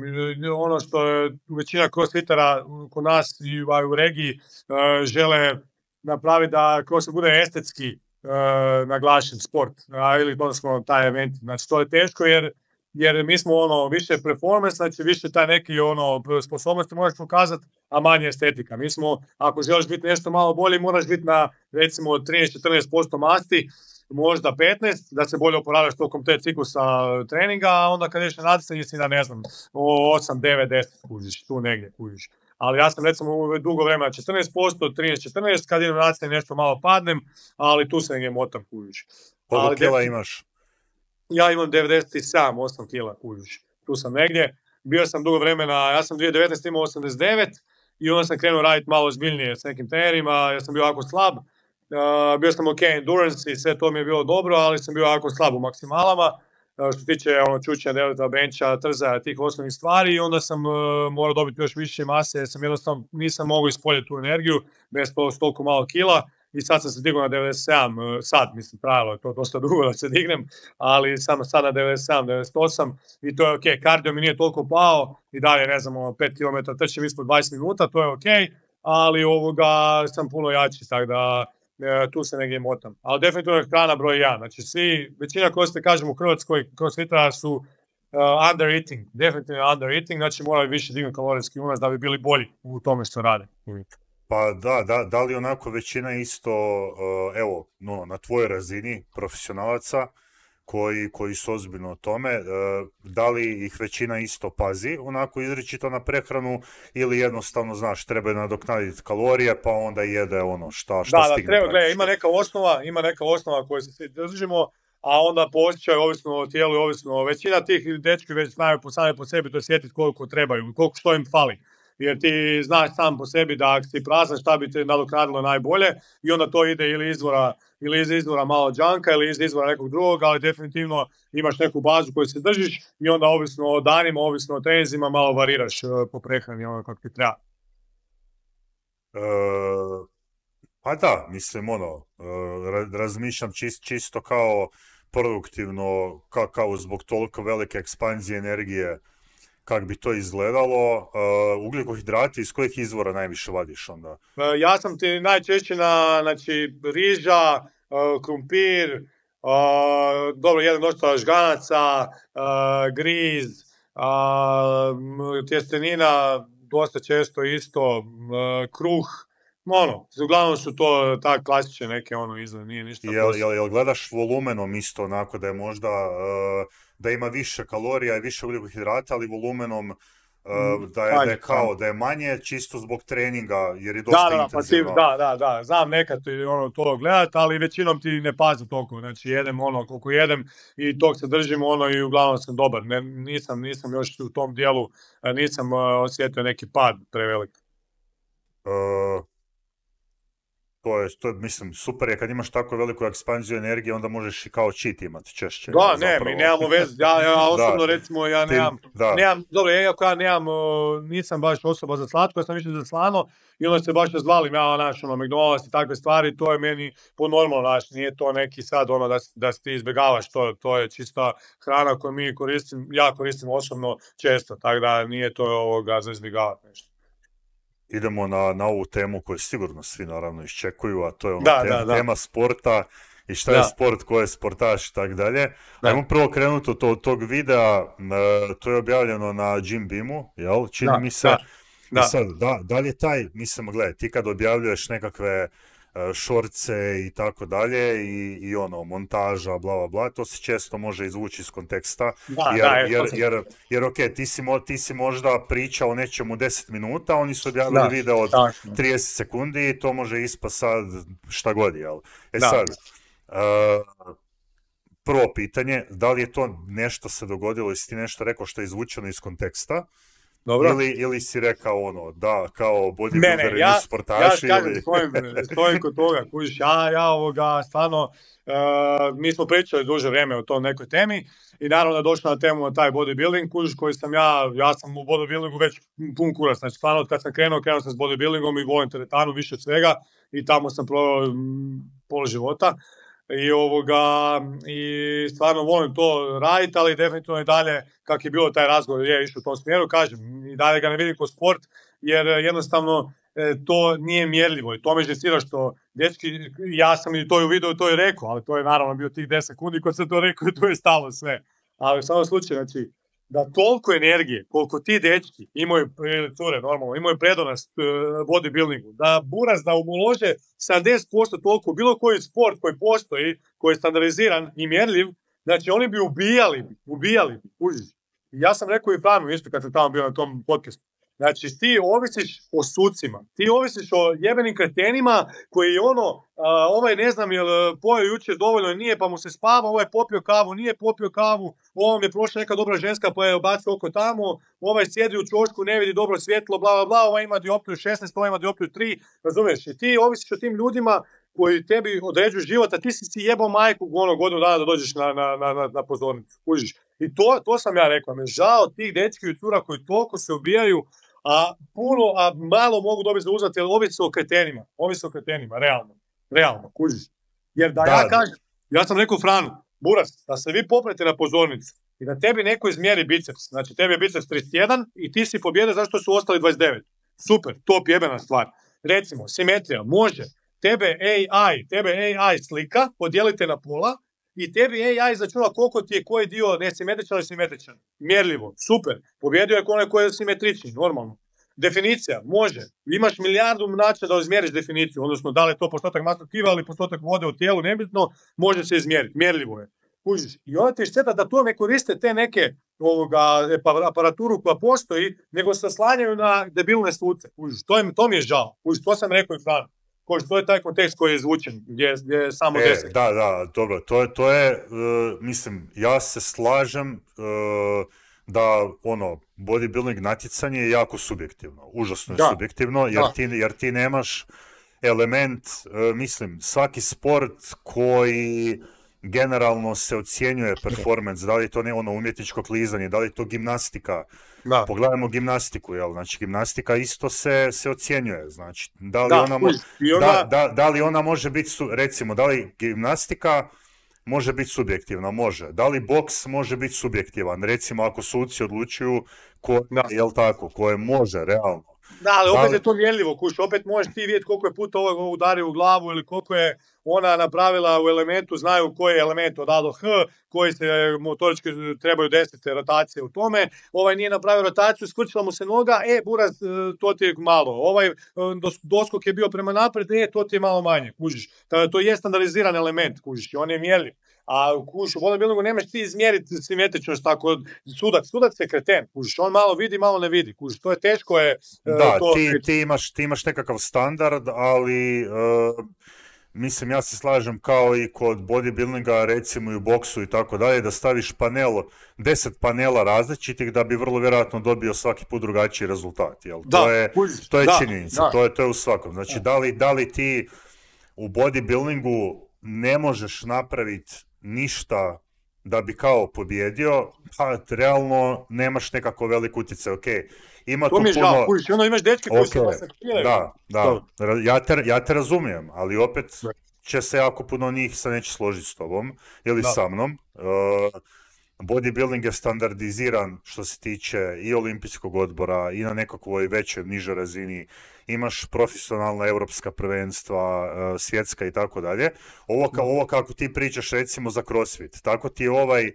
ono što je većina crossfitera kod nas i u regiji uh, žele napraviti da crossfit bude estetski Uh, naglašen sport, uh, ili odnosno taj event. Znači to je teško jer, jer mi smo ono više performance, znači više taj neki ono sposobnosti moraš pokazati, a manje estetika. Mi smo, ako želiš biti nešto malo bolje, moraš biti na recimo trinaest do četrnaest posto masti, možda petnaest, da se bolje oporavljaš tokom te ciklusa treninga, a onda kad ješ na natjecanje si da ne znam, osam, devet, deset kužiš, tu negdje kužiš. Ali ja sam recimo dugo vremena četrnaest posto, trinaest četrnaest, kad idem na natjecanje nešto malo padnem, ali tu se negdje motam kužiš. Koliko kila imaš? Ja imam devedeset sedam, osam kila kužiš, tu sam negdje. Bio sam dugo vremena, ja sam dvije tisuće devetnaeste imao osamdeset devet i onda sam krenuo raditi malo zbiljnije s nekim trenerima, ja sam bio jako slab. Uh, bio sam ok endurance i sve to mi je bilo dobro, ali sam bio jako slab u maksimalama. Uh, što tiče ono, čučenja, delta, bencha, trzaja, tih osnovnih stvari i onda sam uh, morao dobiti još više mase jer sam jednostavno nisam mogao ispoljeti tu energiju bez to, toliko malo kila i sad sam se digao na devedeset sedam, uh, sad mislim trajalo je to dosta dugo da se dignem, ali sam sad na devedeset sedam, devedeset osam i to je ok, kardio mi nije toliko pao i dalje ne znam, pet kilometara trčim ispod dvadeset minuta, to je ok, ali ovoga sam puno jači, tako da E, tu se negdje motam. Ali definitivno je hrana broj jedan. Znači svi, većina koji ste kažemo u Hrvatskoj crossfitera su uh, under eating, definitivno under eating, znači moraju više dignuti kalorijski unos da bi bili bolji u tome što rade. Pa da, da, da li onako većina isto, uh, evo, no, na tvojoj razini profesionalaca, koji, koji su ozbiljno o tome, e, da li ih većina isto pazi, onako izričito na prehranu, ili jednostavno, znaš, treba nadoknaditi kalorije, pa onda jede ono šta, šta da, stigne. Da, treba, gledaj, ima neka osnova, ima neka osnova koju se svi držimo, a onda po osjećaju, ovisno o tijelu, ovisno, većina tih dečki već znaju po same po sebi to sjetiti koliko trebaju, koliko što im fali. Jer ti znaš sam po sebi da ako si prazan šta bi te nadoknadilo najbolje i onda to ide ili izvora, ili iz izvora malo džanka ili iz izvora nekog drugog, ali definitivno imaš neku bazu koju se držiš i onda ovisno o danima, ovisno o treninzima malo variraš po prehrani ono kako ti treba. E, pa da, mislim ono, razmišljam čist, čisto kao produktivno, kao, kao zbog toliko velike ekspanzije energije, kako bi to izgledalo. Uh, ugljikohidrati iz kojih izvora najviše vadiš onda? Uh, ja sam ti najčešće na, znači, riža, uh, krumpir, uh, dobro, jedan dosta žganaca, uh, griz, uh, tjestenina, dosta često isto, uh, kruh, ono, uglavnom su to tak klasične neke ono izgleda, nije ništa. Jel, jel, jel gledaš volumenom isto onako da je možda, uh, da ima više kalorija i više ugljikohidrata, ali volumenom uh, da, je, da je kao, da je manje čisto zbog treninga, jer je dosta da, da, intenzivno. Pa ti, da, da, da, znam nekad ono, to gledat, ali većinom ti ne pazi toliko, znači jedem ono koliko jedem i tog se držim ono i uglavnom sam dobar, ne, nisam, nisam još u tom dijelu, nisam uh, osjetio neki pad prevelik. Uh, To je, to je, mislim, super je kad imaš tako veliku ekspanziju energije, onda možeš i kao cheat imati češće. Da, ne, zapravo. Mi nemamo veze, ja, ja osobno da, recimo, ja nemam, da. nemam, dobro, iako ja nemam, nisam baš osoba za slatko, ja sam više za slano, i onda se baš zvalim, ja, naš, ono, McDonald's i takve stvari, to je meni po normalno, naš, nije to neki sad, ono, da, da ti izbjegavaš, to, to je čista hrana koju mi koristim, ja koristim osobno često, tako da nije to ovoga za izbjegavati nešto. Idemo na, na ovu temu koju sigurno svi naravno iščekuju, a to je ono da, tema, da, da. tema sporta i šta da. je sport, ko je sportaš i tako dalje. Ajmo prvo krenuti od tog, tog videa, to je objavljeno na Jim Beamu, jel? Čini da, mi se. Da, da. I sad, da, da li je taj, mislim, gledaj, ti kad objavljuješ nekakve šorce i tako dalje i, i ono, montaža, bla, bla, bla, to se često može izvući iz konteksta, da, jer, da, jer, jer, jer, jer ok, ti si, mo, ti si možda pričao o nečemu deset minuta, oni su objavili da, video od tako. trideset sekundi i to može ispa sad šta god, jel? E da. sad, uh, prvo pitanje, da li je to nešto se dogodilo, jesi ti nešto rekao što je izvučeno iz konteksta? Dobro. Ili, ili si rekao ono, da, kao bodybuilderi ja, nisu sportaši. Ja kažem, ili... stojim, stojim kod toga, kužiš, ja, ja ovoga, stvarno, uh, mi smo pričali duže vrijeme o tom nekoj temi i naravno da došlo na temu na taj bodybuilding, kužiš, koji sam ja, ja sam u bodybuildingu već pun kurac, znači stvarno kad sam krenuo, krenuo sam s bodybuildingom i volim teretanu više od svega i tamo sam proveo pol života. I, ovoga, i stvarno volim to raditi, ali definitivno i dalje, kak je bilo taj razgovor, je išao u tom smjeru, kažem, i dalje ga ne vidim kao sport, jer jednostavno e, to nije mjerljivo i to me žestira što, dečki, ja sam i to u videu to i rekao, ali to je naravno bio tih deset sekundi kad sam to rekao i to je stalo sve. Ali u samom slučaju, znači, da toliko energije, koliko ti dečki imaju, cure, normalno, imaju predonost uh, bodybuildingu, da buraz da ulože sedamdeset posto toliko, bilo koji sport koji postoji, koji je standardiziran i mjerljiv, znači oni bi ubijali, ubijali, užiš. Ja sam rekao i Franu isto kad sam tamo bio na tom podcastu. Znači, ti ovisiš o sucima, ti ovisiš o jebenim kretenima koji ono, uh, ovaj ne znam jel pojeo jučer dovoljno nije pa mu se spava, ovaj popio kavu, nije popio kavu, ovom je prošla neka dobra ženska pa je obacio oko tamo, ovaj sjedi u čošku, ne vidi dobro svjetlo, bla, bla, bla, ovaj ima dioptriju šesnaest, ovaj ima dioptriju tri, razumiješ? I ti ovisiš o tim ljudima koji tebi određuju život, a ti si si jebao majku ono godinu dana da dođeš na, na, na, na pozornicu, kužiš. I to, to sam ja rekao, me žao tih dečki i cura koji toliko se ubijaju, a puno, a malo mogu dobiti za uzvat, jer ovisi o kretenima, ovisi o kretenima, realno, realno, kužiš. Jer da, da ja kažem, ja sam rekao Franu, buras, da se vi poprete na pozornicu i da tebi neko izmjeri biceps, znači tebi je biceps trideset jedan i ti si pobjede zašto su ostali dvadeset devet. Super, top jebena stvar. Recimo, simetrija, može, tebe A I, tebe A I slika, podijelite na pola, i tebi A I začuna koliko ti je koji dio nesimetričan ili simetričan. Mjerljivo, super. Pobjedio je onaj koji je simetrični, normalno. Definicija, može. Imaš milijardu načina da izmjeriš definiciju, odnosno da li je to postotak masnog tkiva ili postotak vode u tijelu, nebitno, može se izmjeriti. Mjerljivo je. kužiš. I onda ti šteta da to ne koriste te neke ovoga, aparaturu koja postoji, nego se slanjaju na debilne suce, kužiš. To, je, to mi je žao, kužiš, to sam rekao i Franu. Kužiš, to je taj kontekst koji je zvučen, gdje, gdje je samo e, deset. Da, da, dobro, to je, to je uh, mislim, ja se slažem uh, da, ono, bodybuilding natjecanje je jako subjektivno, užasno je da. subjektivno, jer ti, jer ti nemaš element, uh, mislim, svaki sport koji generalno se ocjenjuje performance, da li je to ne ono umjetničko klizanje, da li je to gimnastika. Da. Pogledajmo gimnastiku, jel? Znači gimnastika isto se, se ocjenjuje, znači da li, da, ona, mo- ona... Da, da, da li ona može biti, su... recimo, da li gimnastika može biti subjektivna, može. Da li boks može biti subjektivan, recimo ako suci odlučuju ko, jel tako, koje može, realno. Da, ali opet da li... je to mjerljivo, kuš, opet možeš ti vidjeti koliko je puta ovog udario u glavu ili koliko je ona napravila u elementu, znaju koji je element od A do H, koji se motorički trebaju desiti rotacije u tome, ovaj nije napravio rotaciju, skrčila mu se noga, e, buraz, to ti je malo, ovaj doskok je bio prema naprijed, e, to ti je malo manje, kužiš. To je standardiziran element, kužiš, on je mjerljiv. A kuš, u bodybuildingu nemaš ti izmjeriti simetričnost tako, sudac, sudac je kreten, kužiš, on malo vidi, malo ne vidi, kužiš, to je teško je... Da, to... ti, ti, imaš, ti imaš nekakav standard, ali... Uh... Mislim, ja se slažem kao i kod bodybuildinga, recimo i u boksu i tako dalje, da staviš panel, deset panela različitih da bi vrlo vjerojatno dobio svaki put drugačiji rezultat. Jel? Da, to je, to je da, činjenica, da. To, je, to je u svakom. Znači, da li, da li ti u bodybuildingu ne možeš napraviti ništa da bi kao pobjedio, pa realno nemaš nekako velik utjecaj, ok. Ima to mi je puno... žao, kužiš, ono imaš dečke koji okay. se masakriraju. Da, da, ja te, ja te razumijem, ali opet će se jako puno njih se neće složiti s tobom ili da. Sa mnom. Uh, bodybuilding je standardiziran što se tiče i olimpijskog odbora i na nekakvoj većoj, nižoj razini. Imaš profesionalna europska prvenstva, uh, svjetska i tako dalje. Ovo, ka, ovo kako ti pričaš recimo za CrossFit, tako ti je ovaj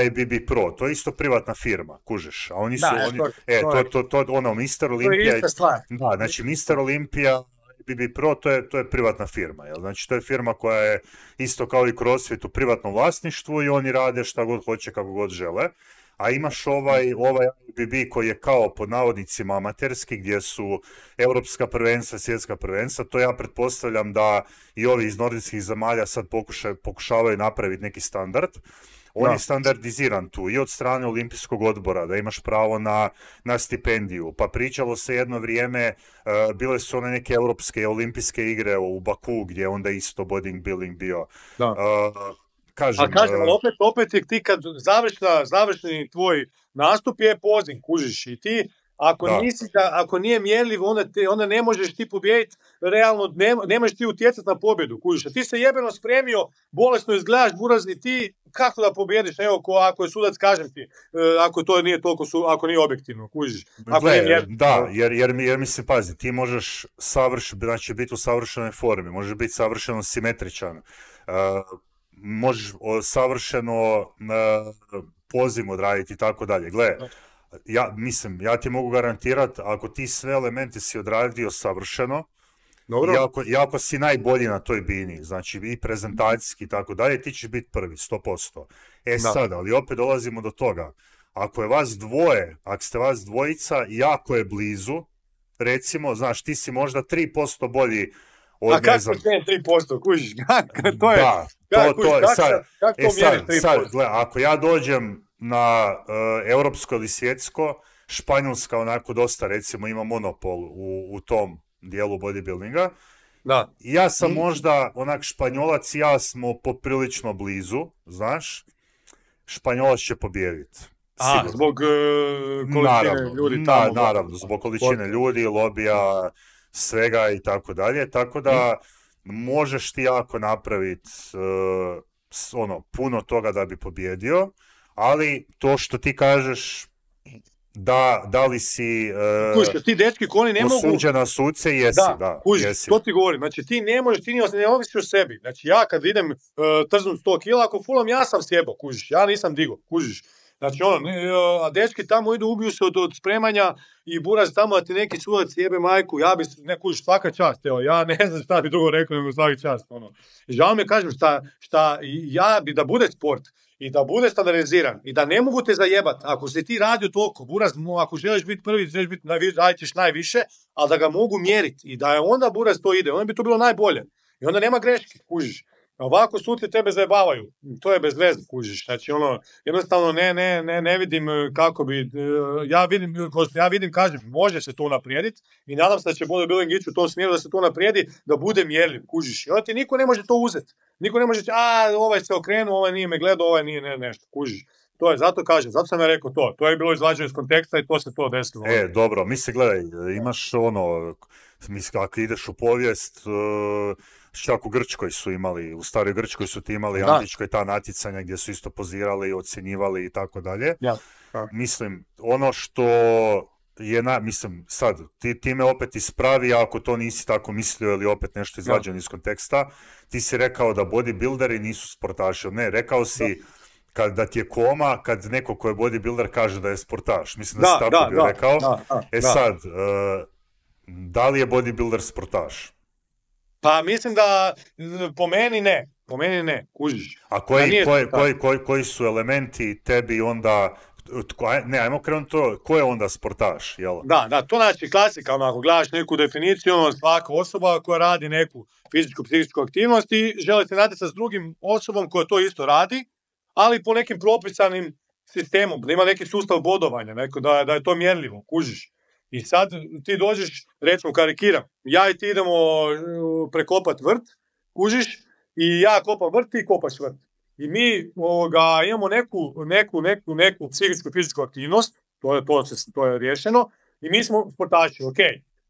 I B B Pro, to je isto privatna firma, kužiš, a oni su, da, oni, to, e, to, to, to, to, ono, mister Olimpija, to je ista stvar. Da, znači mister Olimpija, I B B Pro, to je, to je privatna firma, jel? Znači to je firma koja je isto kao i CrossFit u privatnom vlasništvu i oni rade šta god hoće, kako god žele, a imaš ovaj, ovaj I B B koji je kao pod navodnicima amaterski, gdje su europska prvenstva, svjetska prvenstva, to ja pretpostavljam da i ovi iz nordijskih zemalja sad pokušaju, pokušavaju napraviti neki standard. On da. Je standardiziran tu i od strane olimpijskog odbora, da imaš pravo na, na stipendiju. Pa pričalo se jedno vrijeme, uh, bile su one neke europske olimpijske igre u Baku, gdje je onda isto bodybuilding bio. Da. Uh, kažem, A kažem, uh, opet, opet je ti kad završna, završni tvoj nastup je poziv, kužiš, i ti Ako, nisi, ako nije mjerljiv, onda, te, onda ne možeš ti pobijediti, realno ne, ne možeš ti utjecati na pobjedu, kužiš. A ti se jebeno spremio, bolesno izgledaš, burazni, ti kako da pobjediš, evo, ko, ako je sudac, kažem ti, ako to nije toliko, su, ako nije objektivno, kužiš. Ako Gle, nije mjerljiv, da, jer, jer, jer mi se pazi, ti možeš savrš, znači, biti u savršenoj formi, možeš biti savršeno simetričan, uh, možeš savršeno uh, poziv odraditi i tako dalje. Gle, ja mislim, ja ti mogu garantirati, ako ti sve elemente si odradio savršeno, i ako, i ako si najbolji na toj bini, znači i prezentacijski i tako dalje, ti ćeš biti prvi, sto posto. E da. Sad, ali opet dolazimo do toga, ako je vas dvoje, ako ste vas dvojica, jako je blizu, recimo, znaš, ti si možda tri posto bolji od, a kako znam... ne tri posto, kužiš, to je, da, kako, to, to je, sad, kako to e, sad, mjeri tri posto? sad, gle, ako ja dođem na uh, europsko ili svjetsko, Španjolska onako dosta, recimo, ima monopol u, u tom dijelu bodybuildinga. Da. Ja sam možda, onak Španjolac i ja smo poprilično blizu, znaš, Španjolac će pobijediti. A, zbog uh, količine naravno, ljudi tamo. Na, naravno, zbog količine ljudi, lobija, svega i tako dalje, tako da možeš ti jako napraviti uh, ono, puno toga da bi pobjedio, ali to što ti kažeš, da, da li si uh, kužiš, ti dečki koji ne mogu osuđen na suce, jesi, da, da kužiš, jesi. To ti govorim, znači ti ne možeš, ti ne ovisiš o sebi, znači ja kad idem uh, trznuti sto kila, ako fulam, ja sam sjebo, kužiš, ja nisam digo, kužiš, Znači ono, a dečki tamo idu, ubiju se od, od spremanja i buraz tamo da ti neki sudac jebe majku, ja bi neku svaka čast, evo, ja ne znam šta bi drugo rekao nego svaki čast, ono. I žao mi je, kažem, šta, šta ja bi da bude sport i da bude standardiziran i da ne mogu te zajebat, ako si ti radio toliko, buraz, ako želiš biti prvi, želiš biti najviše, radit ćeš najviše, ali da ga mogu mjeriti i da je onda buraz to ide, onda bi to bilo najbolje. I onda nema greške, kužiš. Ovako suci tebe zajebavaju, to je bez veze, kužiš, znači ono, jednostavno ne, ne, ne, ne vidim kako bi, ja vidim, ja vidim, kažem, može se to naprijediti i nadam se da će bodybuilding ići u tom smjeru da se to naprijedi, da bude mjerljiv, kužiš, i onda ti niko ne može to uzeti, niko ne može, a ovaj se okrenuo, ovaj nije me gledao, ovaj nije ne, nešto, kužiš. To je, zato kažem, zato sam ja rekao to, to je bilo izvađeno iz konteksta i to se to desilo. E, dobro, misli, gledaj, imaš ono, misli, ako ideš u povijest, uh... čak u Grčkoj su imali, u staroj Grčkoj su ti imali da. Antičkoj ta natjecanja gdje su isto pozirali i ocjenjivali i tako dalje. Ja. Mislim, ono što je, na, mislim, sad, ti, ti me opet ispravi ako to nisi tako mislio ili opet nešto izvađeno ja. iz konteksta, ti si rekao da bodybuilderi nisu sportaši, ne, rekao si da. Kad da ti je koma, kad neko ko je bodybuilder kaže da je sportaš. Mislim da, da si tako da, bio da, rekao. Da, da, e da. sad, uh, da li je bodybuilder sportaš? Pa mislim da po meni ne, po meni ne, kužiš. A koji, koji, koji, koji, koji su elementi tebi onda, tko, ne, ajmo krenuti to, ko je onda sportaš, jel? Da, da, to znači klasika, onako, gledaš neku definiciju, ono, svaka osoba koja radi neku fizičku, psihičku aktivnost i želi se natjecati s drugim osobom koja to isto radi, ali po nekim propisanim sistemom, da ima neki sustav bodovanja, neko, da, da je to mjerljivo, kužiš. I sad ti dođeš, recimo karikiram, ja i ti idemo prekopat vrt, kužiš, i ja kopam vrt, ti kopaš vrt. I mi ovoga, imamo neku, neku, neku, neku psihičku i fizičku aktivnost, to je, to, se, to je riješeno, i mi smo sportaši, ok.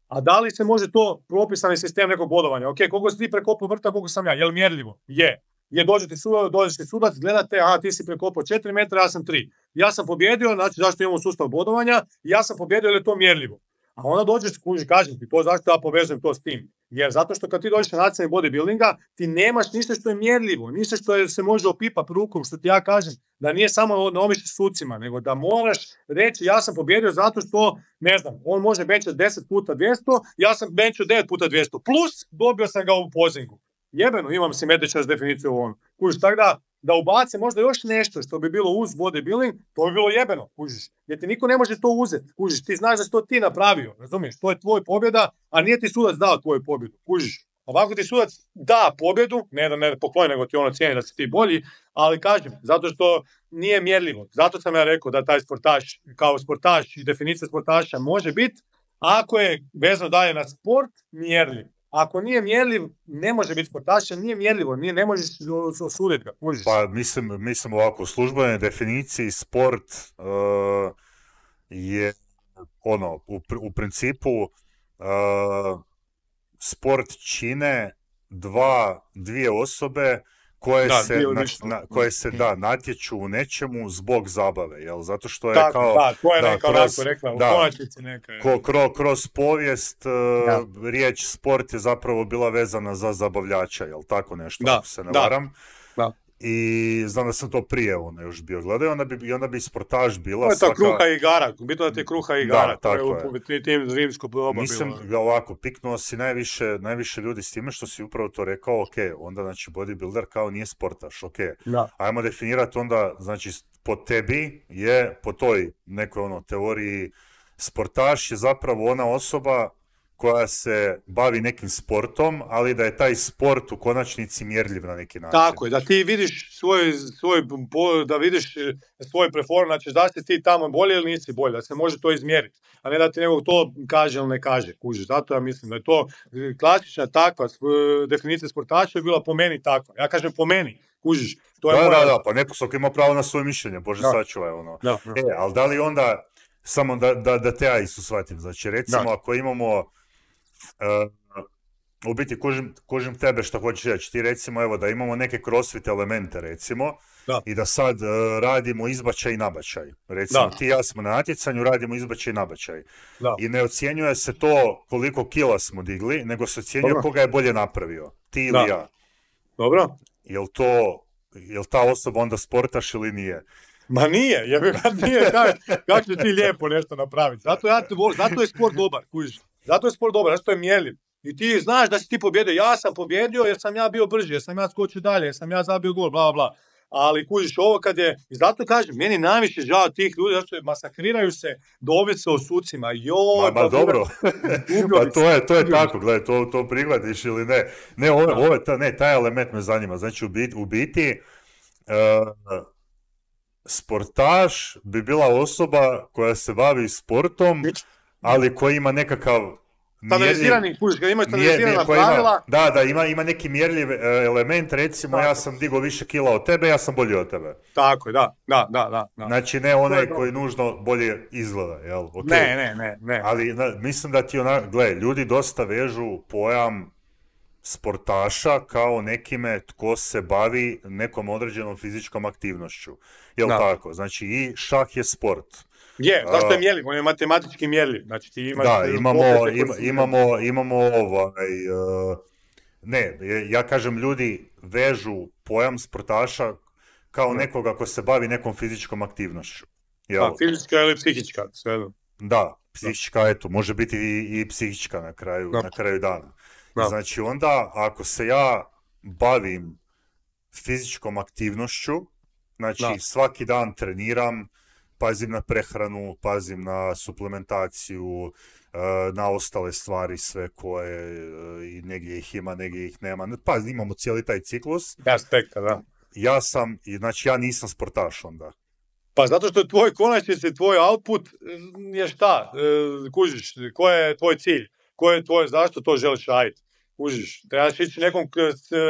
A da li se može to propisani sistem nekog bodovanja? Ok, koliko si ti prekopao vrta, koliko sam ja, je li mjerljivo? Je. Je, dođe ti sudac, dođe ti sudac, gledate, aha, ti si prekopao četiri metra, ja sam tri. Ja sam pobjedio, znači zašto imamo sustav bodovanja, ja sam pobjedio jer je to mjerljivo. A onda dođeš, kuži, kažem ti, to zašto ja povezujem to s tim. Jer zato što kad ti dođeš na natjecanje bodybuildinga, ti nemaš ništa što je mjerljivo, ništa što je, se može opipati rukom, što ti ja kažem, da nije samo na omišlji sucima, nego da moraš reći ja sam pobjedio zato što, ne znam, on može benčati deset puta dvjesto, ja sam benčao devet puta dvjesto, plus dobio sam ga u pozingu. Jebeno, imam simetričnu definiciju u ovom. Kužiš, tako da, da ubace možda još nešto što bi bilo uz bodybuilding, to bi bilo jebeno, kužiš. Jer ti niko ne može to uzeti, kužiš. Ti znaš da si to ti napravio, razumiješ? To je tvoj pobjeda, a nije ti sudac dao tvoju pobjedu, kužiš. Ovako ti sudac da pobjedu, ne da ne pokloni, nego ti ono cijeni da si ti bolji, ali kažem, zato što nije mjerljivo. Zato sam ja rekao da taj sportaš, kao sportaš i definicija sportaša može biti, ako je vezano dalje na sport, mjerljiv. Ako nije mjerljiv, ne može biti sportaš, nije mjerljivo, nije, ne možeš osuditi ga. Možeš. Pa mislim, mislim ovako, u službenoj definiciji sport uh, je ono, u, u principu uh, sport čine dva, dvije osobe koje da, se, na, na, koje se da, natječu u nečemu zbog zabave, jel? Zato što je tako, kao... Da, to je da, neka kroz, onako rekla, u da, konačnici neka. Ko, kro, kroz povijest uh, riječ sport je zapravo bila vezana za zabavljača, jel tako nešto, da, ako se ne da, varam. Da. I znam da sam to prije ono još bio gledao i onda bi, i onda bi sportaž bila... To je ta kruha i igara, bitno da ti je kruha i igara, da, to je u tim rimsko doba bilo. Mislim da ovako, piknuo si najviše, najviše ljudi s time što si upravo to rekao, ok, onda znači bodybuilder kao nije sportaš, ok. Da. Ajmo definirati onda, znači po tebi je, po toj nekoj ono teoriji, sportaš je zapravo ona osoba koja se bavi nekim sportom, ali da je taj sport u konačnici mjerljiv na neki način. Tako je, da ti vidiš svoj, svoj da vidiš svoj performans, znači da si ti tamo bolje ili nisi bolje, da se može to izmjeriti, a ne da ti nego to kaže ili ne kaže, kužiš. Zato ja mislim da je to klasična takva definicija sportaša je bila po meni takva. Ja kažem po meni, kužiš. To je da, moja... da, da, pa neko svako ima pravo na svoje mišljenje, Bože sačuvaj ono. Da, da. E, ali da li onda, samo da, da, da te ja isto shvatim, znači recimo da. Ako imamo Uh, u biti kužim, kužim tebe što hoćeš reći, ti recimo evo da imamo neke crossfit elemente recimo da. I da sad uh, radimo izbačaj i nabačaj, recimo da. Ti i ja smo na natjecanju, radimo izbačaj i nabačaj da. I ne ocjenjuje se to koliko kila smo digli, nego se ocjenjuje Dobro. Koga je bolje napravio, ti ili da. Ja. Dobro. Jel to, jel ta osoba onda sportaš ili nije? Ma nije, jer nije kako, kako će ti lijepo nešto napraviti. Zato, ja te volim, zato je sport dobar, kužiš. Zato je sport dobar, zato je mjerljiv. I ti znaš da si ti pobjedio. Ja sam pobjedio jer sam ja bio brži, jer sam ja skočio dalje, jer sam ja zabio gol, bla, bla. Ali kužiš ovo kad je, i zato kažem, meni najviše žao tih ljudi, zato što masakriraju se do ovise o sucima. Joj, ma, ma pa dobro, pa to je, to je tako, gledaj, to, to prihvatiš ili ne. Ne, ove, ove, ta, ne, taj element me zanima. Znači, u biti, u biti uh, sportaš bi bila osoba koja se bavi sportom, ali koja ima nekakav standardizirani, kužiš, kad ima standardizirana pravila. Da, da, ima, ima neki mjerljiv element, recimo tako. Ja sam digao više kila od tebe, ja sam bolji od tebe. Tako je, da, da, da, da. da. Znači ne onaj koji nužno bolje izgleda, jel? Okay. Ne, ne, ne, ne. Ali na, mislim da ti onak, gle, ljudi dosta vežu pojam sportaša kao nekime tko se bavi nekom određenom fizičkom aktivnošću. Jel da. Tako? Znači i šah je sport. Je, zašto je mjerljiv? On je matematički mjerljiv. Znači ti imaš... Da, imamo, ima, imamo, imamo ovaj... Uh, ne, ja kažem, ljudi vežu pojam sportaša kao nekoga ko se bavi nekom fizičkom aktivnošću. Jel? Da, fizička ili psihička, sve. Da, psihička, eto, može biti i, i psihička na kraju, na kraju dana. Da. Znači onda, ako se ja bavim fizičkom aktivnošću, znači da. Svaki dan treniram, pazim na prehranu, pazim na suplementaciju, na ostale stvari sve koje i negdje ih ima, negdje ih nema. Pa imamo cijeli taj ciklus. Aspekta, da. Ja sam, znači ja nisam sportaš onda. Pa zato što tvoj konačnici, tvoj output je šta? Kužiš, koji je tvoj cilj? Koji je tvoj, zašto to želiš raditi? Kužiš, trebaš ići nekom,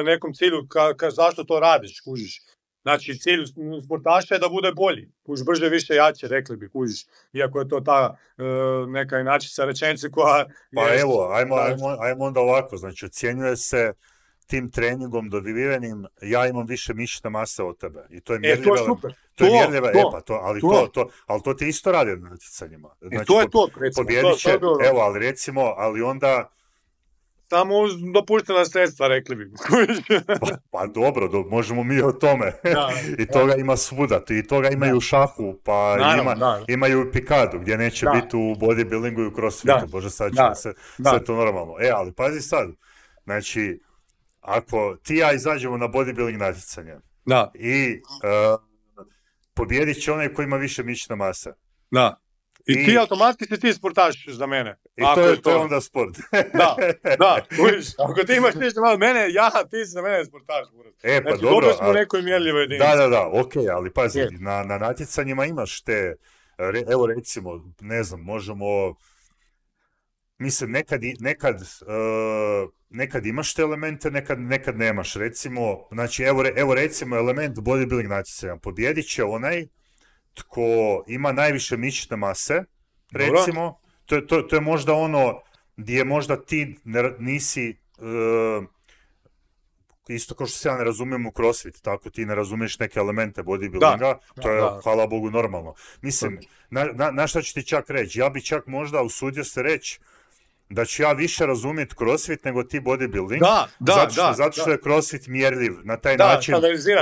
nekom cilju ka, ka, zašto to radiš, kužiš. Znači, cilj sportaša je da bude bolji. Kužiš, brže, više, jače, rekli bi, kužiš. Iako je to ta e, neka inačica rečenice koja... Pa je, evo, ajmo, ajmo, ajmo onda ovako. Znači, ocjenjuje se tim treningom dobivenim, ja imam više mišićne mase od tebe. I to je mjerljiva... E, to je super. To, to je mjerljiva, to, e, pa to, ali to, to, to, ali to ti isto radi na natjecanjima. Znači, e, to je to, recimo. Pobjedit će, to, to evo, ali recimo, ali onda... Samo dopuštena sredstva, rekli bi. pa, pa dobro, do, možemo mi o tome. Da, I toga da. Ima svuda. I toga imaju u šahu, pa Naravno, ima, da. Imaju u pikadu, gdje neće da. Biti u bodybuildingu i u crossfitu. Bože, sad će se, sve to normalno. E, ali pazi sad. Znači, ako ti ja izađemo na bodybuilding natjecanje da. I uh, pobjedit će onaj koji ima više mišićne mase. Da. I, I ti automatski si ti sportaš za mene. I to je, to je onda sport. da, da, uviš, ako ti imaš ništa malo mene, ja, ti si za mene sportaš. E, pa znači, dobro. Dobro smo u nekoj mjerljivoj jedinici. Da, da, da, ok, ali pazi, je. na, na natjecanjima imaš te, re, evo recimo, ne znam, možemo, mislim, nekad, nekad, uh, nekad imaš te elemente, nekad, nekad nemaš. Recimo, znači, evo, evo recimo element bodybuilding natjecanja. Pobjedit će onaj tko ima najviše mišićne mase, recimo, to, to, to je možda ono gdje možda ti ne, nisi, uh, isto kao što se ja ne razumijem u crossfit, tako ti ne razumiješ neke elemente bodybuildinga, da, to je, da. Hvala Bogu, normalno. Mislim, na, na, na šta ću ti čak reći? Ja bi čak možda usudio se reći da ću ja više razumjeti crossfit nego ti bodybuilding, da, da, zato, što, da, zato što da. je crossfit mjerljiv na taj da, način o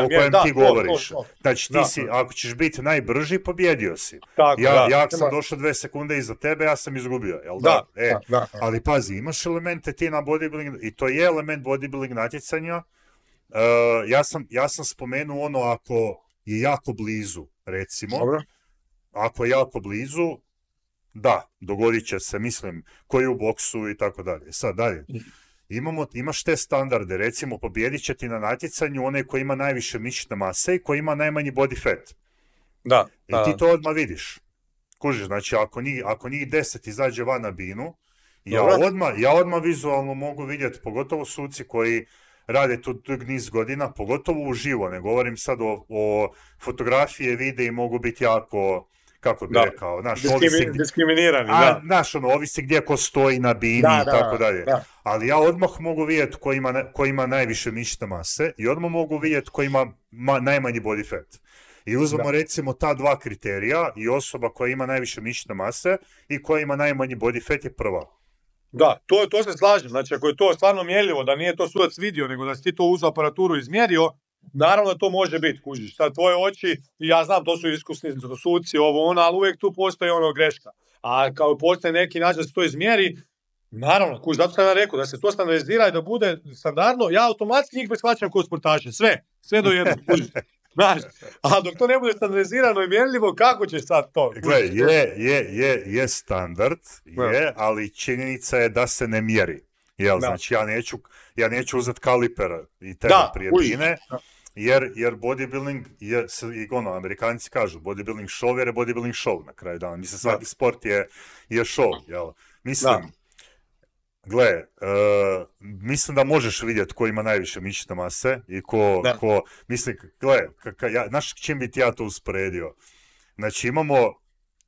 kojem da, ti govoriš. To, to, to. Znači ti da, si, ako ćeš biti najbrži, pobjedio si. Tako, ja, da, ja ako sam došao dve sekunde iza tebe, ja sam izgubio. Jel da? Da, e, da, da. Ali pazi, imaš elemente ti na bodybuilding, i to je element bodybuilding natjecanja. Uh, ja, sam, ja sam spomenuo ono ako je jako blizu, recimo. Dobro. Ako je jako blizu, da, dogodit će se, mislim, koji u boksu i tako dalje. Sad dalje, imamo, imaš te standarde, recimo pobjedit će ti na natjecanju onaj koji ima najviše mišićne mase i koji ima najmanji body fat. Da. I ti to odmah vidiš. Kužiš, znači ako njih, ako njih deset izađe van na binu, ja odmah, ja odmah vizualno mogu vidjeti, pogotovo suci koji rade tu dug niz godina, pogotovo uživo, ne govorim sad o, o fotografije, videi mogu biti jako... kako bi da. rekao, naš, Diskrimi, ovisi, diskriminirani, a, da. Naš, ono, ovisi gdje ko stoji na bini da, i tako da, dalje. Da. Ali ja odmah mogu vidjeti ko ima, ko ima najviše mišićne mase i odmah mogu vidjeti ko ima ma, najmanji body fat. I uzmemo da. recimo ta dva kriterija i osoba koja ima najviše mišićne mase i koja ima najmanji body fat je prva. Da, to, to se slažem. Znači, ako je to stvarno mjerljivo, da nije to sudac vidio, nego da si ti to uzeo aparaturu izmjerio, Naravno da to može biti, kužiš. Sad tvoje oči, ja znam, to su iskusni suci, ovo ono, ali uvijek tu postoji ono greška. A kao postoje neki način da se to izmjeri, naravno, kužiš, zato sam ja rekao, da se to standardizira i da bude standardno, ja automatski njih prihvaćam kao sportaše, sve, sve do jednog, kužiš. Znaš, a dok to ne bude standardizirano i mjerljivo, kako ćeš sad to? Gle, je, je, je, je standard, je, ali činjenica je da se ne mjeri. Jel, da. Znači, ja neću, ja neću uzeti kaliper i tebe da, prije bine, jer, jer bodybuilding, je, i ono, Amerikanci kažu, bodybuilding show jer je bodybuilding show na kraju dana. Mislim, svaki da. sport je, je show, jel? Mislim, da. gle, uh, mislim da možeš vidjeti ko ima najviše mišićne mase i ko, ko mislim, gle, kaka, ja, znaš čim bi ti ja to usporedio? Znači, imamo,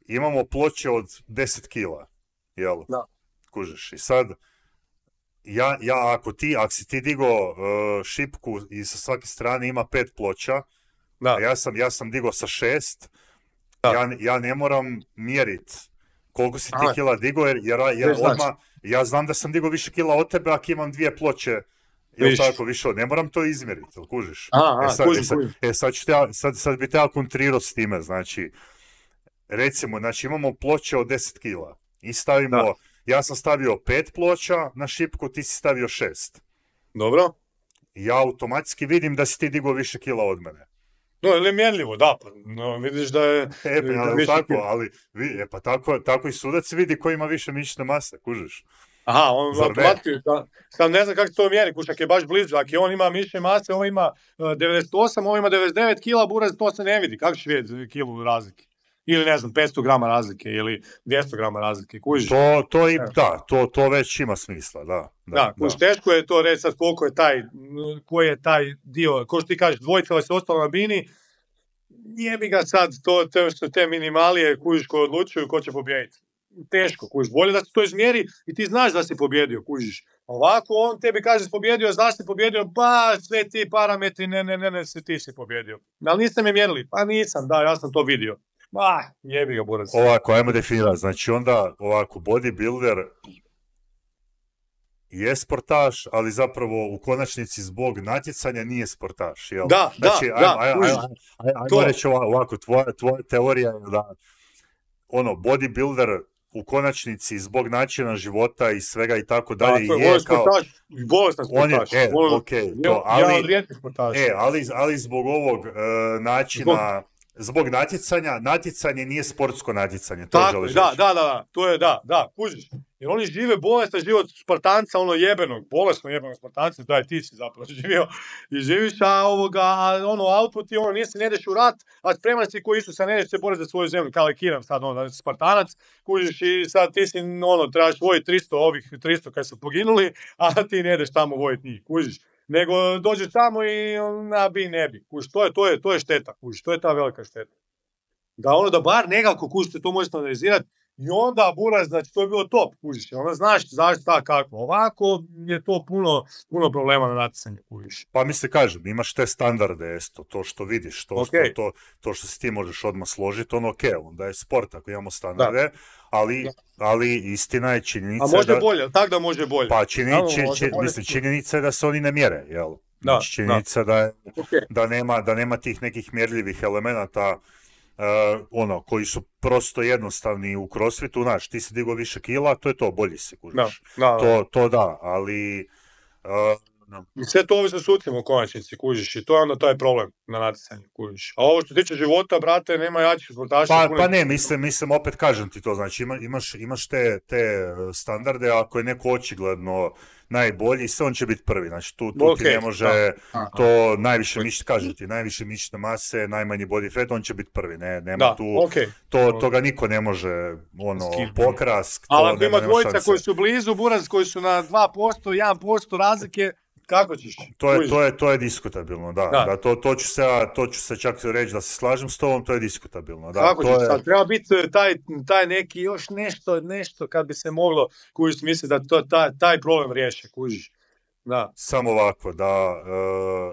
imamo ploče od deset kila, jel? Da. Kužiš, i sad, Ja, ja ako ti, ako si ti digo uh, šipku i sa svake strane ima pet ploča, da. a ja sam, ja sam digo sa šest, ja, ja ne moram mjerit koliko si ti Aha. kila digo, jer, jer, jer odmah, ja znam da sam digo više kila od tebe ako imam dvije ploče, jel tako više od, ne moram to izmjeriti, jel kužiš? Aha, e sad, kužim, e sad, e sad, ću te, sad, sad bi te ja kontrirao s time, znači, recimo, znači imamo ploče od deset kila i stavimo... Da. Ja sam stavio pet ploča na šipku, ti si stavio šest. Dobro. Ja automatski vidim da si ti digao više kila od mene. No, ili je mjerljivo, da, pa no, vidiš da je... E, pa, ali, tako, kila. ali e, pa tako, tako i sudac vidi ko ima više mišićne mase, kužiš. Aha, on automatski, sam ne znam kako se to mjeri, kušak je baš blizu, ako on ima mišićne mase, on ima devedeset osam, on ima devedeset devet kila, buraz, to se ne vidi, kako će vidjeti kilu razlike? Ili ne znam, petsto grama razlike ili dvjesto grama razlike, kužiš? To, to i, da, to, to već ima smisla, da. Da, da kužiš, teško je to reći sad koliko je taj, koji je taj dio, ko što ti kažeš, dvojica se ostalo na bini, jebi ga sad, to, to su te minimalije, kužiš, ko odlučuju ko će pobijediti. Teško, kužiš, bolje da se to izmjeri i ti znaš da si pobjedio, kužiš. Ovako on tebi kaže da si pobjedio, znaš si pobjedio, pa sve ti parametri, ne, ne, ne, ne, sve ti si pobjedio. Ali niste me mjerili, pa nisam, da, ja sam to vidio. Ah, jebi ga, burac. Ovako, ajmo definirati. Znači onda, ovako, bodybuilder je sportaš, ali zapravo u konačnici zbog natjecanja nije sportaš, jel? Da, znači, da, ajmo, da. Ajmo, ajmo, ajmo, ajmo reći ovako, tvoja, tvoja teorija je da ono, bodybuilder u konačnici zbog načina života i svega i tako dalje da, je kao... Bolestan sportaš. E, Vol... okay, to, ali, ja od rijetkih sportaša. E, ali, ali zbog ovog uh, načina... Zbog... Zbog natjecanja, natjecanje nije sportsko natjecanje, to tako, želiš da, reći. Da, da, da, to je da, da, kužiš. Jer oni žive bolestan život Spartanca, ono jebenog, bolesno jebenog Spartanca, to je ti si zapravo živio i živiš, a ovoga, a ono, output i ono, nije se ne ideš u rat, a spreman si ko Isusa, ne ideš se boriti za svoju zemlju, kao i Kiram sad, ono, Spartanac, kužiš i sad ti si, ono, trebaš vojiti tristo, ovih tristo kad su poginuli, a ti ne ideš tamo vojiti njih, kužiš. Nego dođeš tamo i na bi ne bi. Kuš, to je, to je, to je šteta, kuš, to je ta velika šteta. Da ono da bar nekako kuš, to možeš analizirati i onda buraz, znači to je bilo top, kužiš, onda znaš zašto ta kako. Ovako je to puno, puno problema na natjecanju, kužiš. Pa mi se kažem, imaš te standarde, esto, to što vidiš, to, okay. što, to, to što se ti možeš odmah složiti, ono ok, onda je sport ako imamo standarde, ali, ali istina je činjenica. A može da, bolje, tako da može bolje. Pa čini, da, či, či, bolje. Mislim, činjenica je da se oni ne mjere, jel? Da, znači, činjenica da, da, okay. da, nema, da nema tih nekih mjerljivih elemenata Uh, ono, koji su prosto jednostavni u crossfitu, znaš, ti si digao više kila, to je to, bolji si, kužiš. Da, da, to, to da, ali... Uh, no. I sve to ovisno s sucima u konačnici, kužiš, i to je onda taj problem na natjecanju, kužiš. A ovo što tiče života, brate, nema jačih sportaša. Pa, pa ne, mislim, mislim, opet kažem ti to, znači ima, imaš, imaš te, te standarde, ako je neko očigledno najbolji, sve on će biti prvi, znači tu, tu okay, ti ne može da. to najviše mišić, kažem ti, najviše mišićne mase, najmanji body fat, on će biti prvi, ne, nema da, tu, okay. to, toga niko ne može, ono, pokrast. Ali ako ima dvojica koji su blizu, buraz koji su na dva posto, jedan posto razlike, kako ćeš? To je, to je, to je diskutabilno, da. da. da to, to, ću se, to ću se čak reći da se slažem s tobom, to je diskutabilno. Da, kako to ćeš? Je... Sad, treba biti taj, taj neki još nešto, nešto kad bi se moglo, kužiš, misli da to, taj, taj problem riješe, kužiš. Da. Samo ovako, da,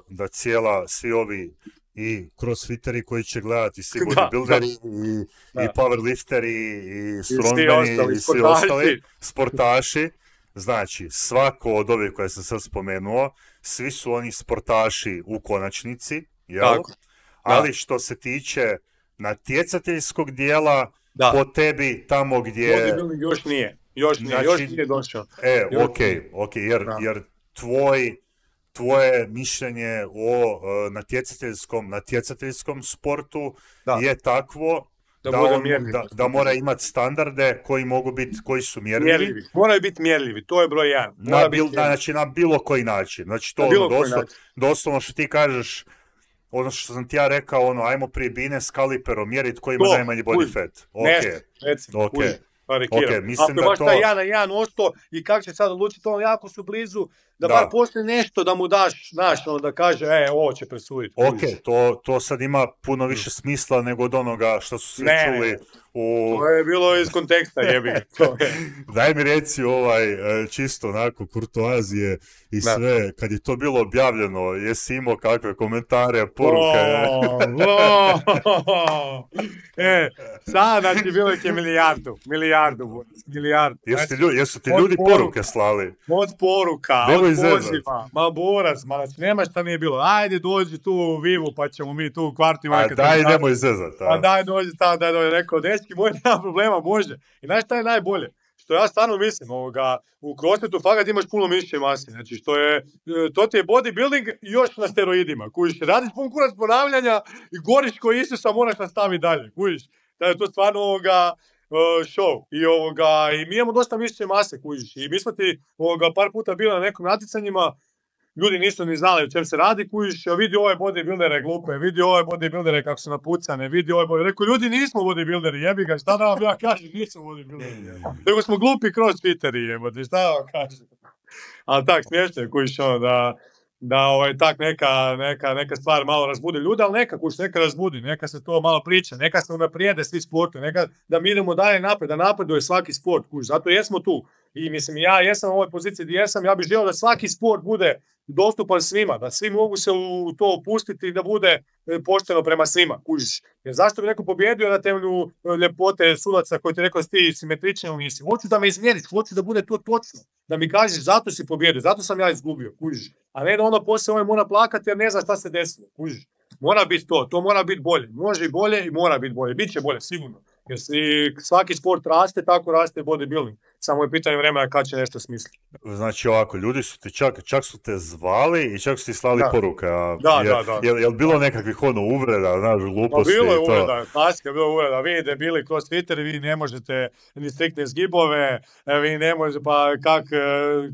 da cijela, svi ovi i crossfiteri koji će gledati, svi bodybuilderi i, i powerlifteri i strongmeni i, i svi ostali sportaši. Znači, svako od ovih koje sam sad spomenuo svi su oni sportaši u konačnici, jel? Tako. Ali što se tiče natjecateljskog dijela, da. po tebi tamo gdje... Bodybuilding još nije, još nije, znači, još nije došao. E, još ok, ok, jer, jer tvoj, tvoje mišljenje o uh, natjecateljskom, natjecateljskom sportu da. je takvo da, da, on, da, da mora imati standarde koji mogu biti, koji su mjerljivi. mjerljivi. Moraju biti mjerljivi, to je broj jedan. Na, bil, znači na bilo koji način. Znači to ono, doslo, doslovno što ti kažeš, ono što sam ti ja rekao, ono, ajmo prije bine s kaliperom mjeriti koji ima to, najmanji body uj, fat. Ok, ne, recimo, ok. Okay, mislim ako da baš to... taj jedan na jedan osto i kako će sad odlučiti, on jako su blizu, da, da. bar postoji nešto da mu daš, znaš, ono da kaže, e, ovo će presuditi. Ok, to, to sad ima puno više smisla nego od onoga što su svi ne, čuli. U... To je bilo iz konteksta, jebi. Daj mi reci ovaj, čisto onako, kurtoazije i da. sve, kad je to bilo objavljeno, jesi imao kakve komentare, poruke? Oh, oh. E, sad, znači, bilo je milijardu, milijardu, milijardu. Jesu ti ljudi, jesu ti ljudi poruka, poruke slali? Od poruka, Demo od poziva, ma borac, ma znači, nema šta nije bilo, ajde dođi tu u Vivu, pa ćemo mi tu u kvartu. A daj, nemoj zezat. A daj, dođi tamo, daj, dođi, rekao, dečki, moj nema problema, može. I znaš šta je najbolje? Što ja stvarno mislim, ovoga, u crossfitu fakat imaš puno mišiće mase, znači što je, to ti je bodybuilding još na steroidima, kužiš, radiš pun kurac ponavljanja i goriš koji Isusa moraš nastaviti dalje, kužiš, da je to stvarno ovoga uh, show i ovoga, i mi imamo dosta mišiće mase, kužiš, i mi smo ti ovoga par puta bili na nekim natjecanjima, ljudi nisu ni znali o čem se radi, kužiš, vidi ove bodybuildere glupe, vidi ove bodybuildere kako su napucane, vidi ove bodybuildere, rekao, ljudi nismo bodybuilderi, jebi ga, šta da vam ja kažem, nismo bodybuilderi, nego smo glupi crossfiteri, jebate, šta da vam kažem. Ali tak, smiješno je, kužiš, ono, da, da ovaj, tak neka, neka, neka stvar malo razbudi ljude, ali neka, kužiš, neka razbudi, neka se to malo priča, neka se unaprijede svi sportu, neka da mi idemo dalje napred, da napreduje svaki sport, kužiš, zato jesmo tu. I mislim, ja jesam u ovoj poziciji gdje jesam, ja bih želio da svaki sport bude dostupan svima, da svi mogu se u to upustiti i da bude pošteno prema svima, kužiš. Jer zašto bi neko pobjedio na temelju ljepote sudaca koji ti rekao ti simetrični ili nisi? Hoću da me izmjeriš, hoću da bude to točno. Da mi kažeš zato si pobjedio, zato sam ja izgubio, kužiš. A ne da onda poslije ovaj mora plakati jer ne zna šta se desilo, kužiš. Mora biti to, to mora biti bolje. Može i bolje i mora biti bolje. Biće bolje, sigurno. Jer svaki sport raste, tako raste bodybuilding. Samo je pitanje vremena kad će nešto smisliti. Znači ovako, ljudi su te čak, čak su te zvali i čak su ti slali da. poruke. A da, je, da, da. Je, je li bilo nekakvih ono uvreda, znaš, gluposti? No, bilo je uvreda, klasika, bilo je uvreda. Vi debili crossfitteri, vi ne možete ni striktne zgibove, vi ne možete, pa kak,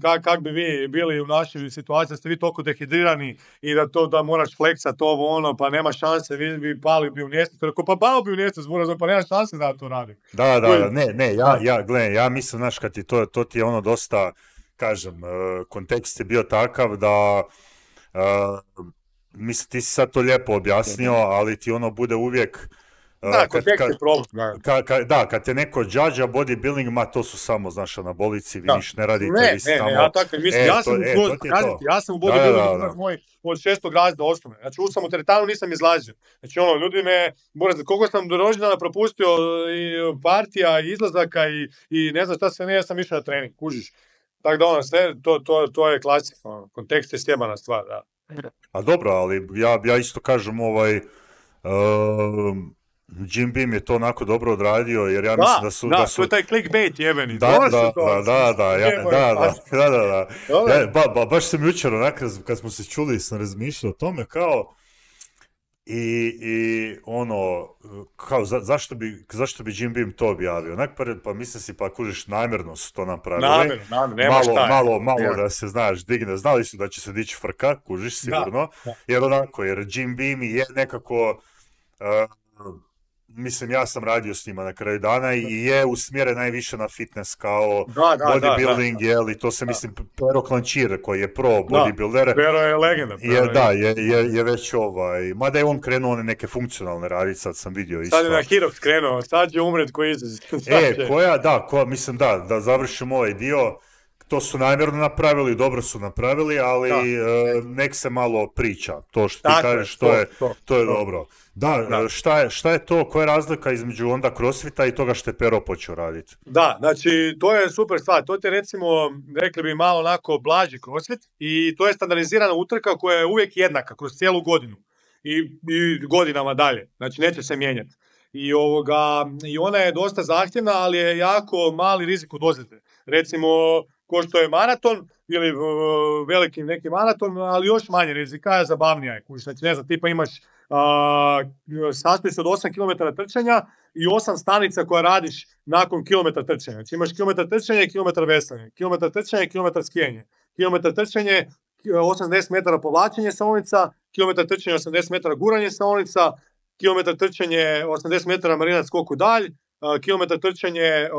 kak, kak bi vi bili u našoj situaciji, da ste vi toliko dehidrirani i da to da moraš fleksat ovo ono, pa nema šanse, vi bi pali bi u mjestu. Rekao, pa pao bi u mjestu, pa nema šanse da to radim. Da, da, da, ne, ne, ja, ja, gledaj, ja mislim, znaš, kad ti to, to ti je ono dosta, kažem, kontekst je bio takav da, uh, mislim, ti si sad to lijepo objasnio, ali ti ono bude uvijek... Uh, da, kontekst je problem. Ka, ka, da, kad te neko džađa bodybuilding, ma to su samo, znaš, anabolici, vi niš ne radite, ne, vi ne, samo... Ne, ja tako mislim, e, ja sam to, u, e, to to. Ja sam u bodybuildingu, da, da, da. moj od šestog razreda osnovne. Znači, u sam u teretanu nisam izlazio. Znači, ono, ljudi me, koliko sam do rođendana propustio i partija, i izlazaka, i, i ne znam šta sve ne, ja sam išao na trening, kužiš. Tako da, ono, sve, to, to, to je klasik, ono, kontekst je sjebana stvar, da. A dobro, ali ja, ja isto kažem, ovaj... Um, Jim Beam je to onako dobro odradio, jer ja da, mislim da su... Da, da su... to je taj clickbait jebeni. Da, da, da, da, da, da, ja, da, da, da, da, da. Ja, ba, ba, baš sam jučer onak, kad smo se čuli, sam razmišljao o tome kao i, i ono, kao za, zašto, bi, zašto bi Jim Beam to objavio? Onak, pa, pa mislim si, pa kužiš, namjerno su to napravili. Namjerno, namjerno, nema malo, šta. Malo, malo ja. da se, znaš, digne, znali su da će se dići frka, kužiš, sigurno, da, da. jer onako, jer Jim Beam je nekako... Uh, Mislim, ja sam radio s njima na kraju dana i je usmjeren najviše na fitness kao da, da, bodybuilding, da, da. jel, i to se, da. mislim, Pero Klančir, koji je pro bodybuilder. Da, Pero je legenda. Pero je, da, je, je, je već ovaj, mada je on krenuo one neke funkcionalne raditi, sad sam vidio isto. Sad je na Hirox krenuo, sad će umret koji izraz. E, koja, da, koja, mislim, da, da završimo ovaj dio, To su namjerno napravili, dobro su napravili, ali uh, nek se malo priča. To što ti Tako kažeš, to, to je, to, to je to. dobro. Da, Da. Šta, je, šta je to, koja je razlika između onda crossfita i toga što je Pero počeo raditi? Da, znači to je super stvar. To ti recimo, rekli bi malo onako blaži crossfit i to je standardizirana utrka koja je uvijek jednaka kroz cijelu godinu i, i godinama dalje. Znači neće se mijenjati. I, ovoga, I ona je dosta zahtjevna, ali je jako mali rizik od ozljede. Recimo, ko što je maraton ili uh, veliki neki maraton, ali još manje rizika, je zabavnija je. Znači, ne znam, tipa imaš uh, sastoji se od osam kilometara trčanja i osam stanica koja radiš nakon kilometra trčanja. Znači imaš kilometar trčanja i kilometar veslanja, kilometar trčanja i kilometar skijanje. Kilometar trčanje, osamdeset metara povlačenje saonica, kilometar trčanja, osamdeset metara guranje saonica, kilometar trčanje, osamdeset metara marinac skoku dalj, kilometar trčanje,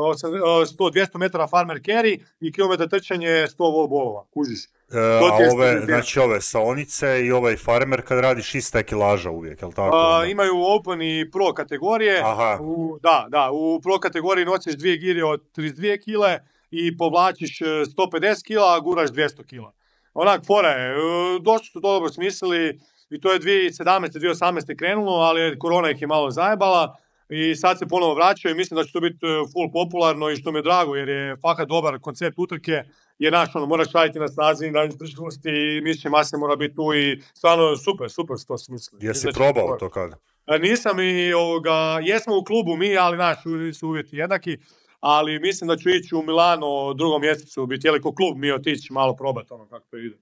sto do dvjesto metara farmer carry i kilometar trčanje sto wall ballova, kužiš. E, a ove, znači ove saonice i ovaj farmer kad radiš ista je kilaža uvijek, jel tako? A, imaju open i pro kategorije. Aha. U, da, da, u pro kategoriji nosiš dvije gire od trideset dvije kile i povlačiš sto pedeset kila, a guraš dvjesto kila. Onak, fora je, dosta su to dobro smislili i to je dvije tisuće sedamnaeste dvije tisuće osamnaeste krenulo, ali korona ih je malo zajebala i sad se ponovo vraćaju i mislim da će to biti full popularno i što mi je drago jer je fakat dobar koncept utrke. Je naš, ono, moraš raditi na snazi, na izdržljivosti i mišićne mase mora biti tu i stvarno super, super to smisli. Jesi probao to kada? Nisam i ovoga, jesmo u klubu mi, ali naš su uvjeti jednaki, ali mislim da ću ići u Milano u drugom mjesecu, bi htjeli ko klub mi otići malo probati ono kako to ide.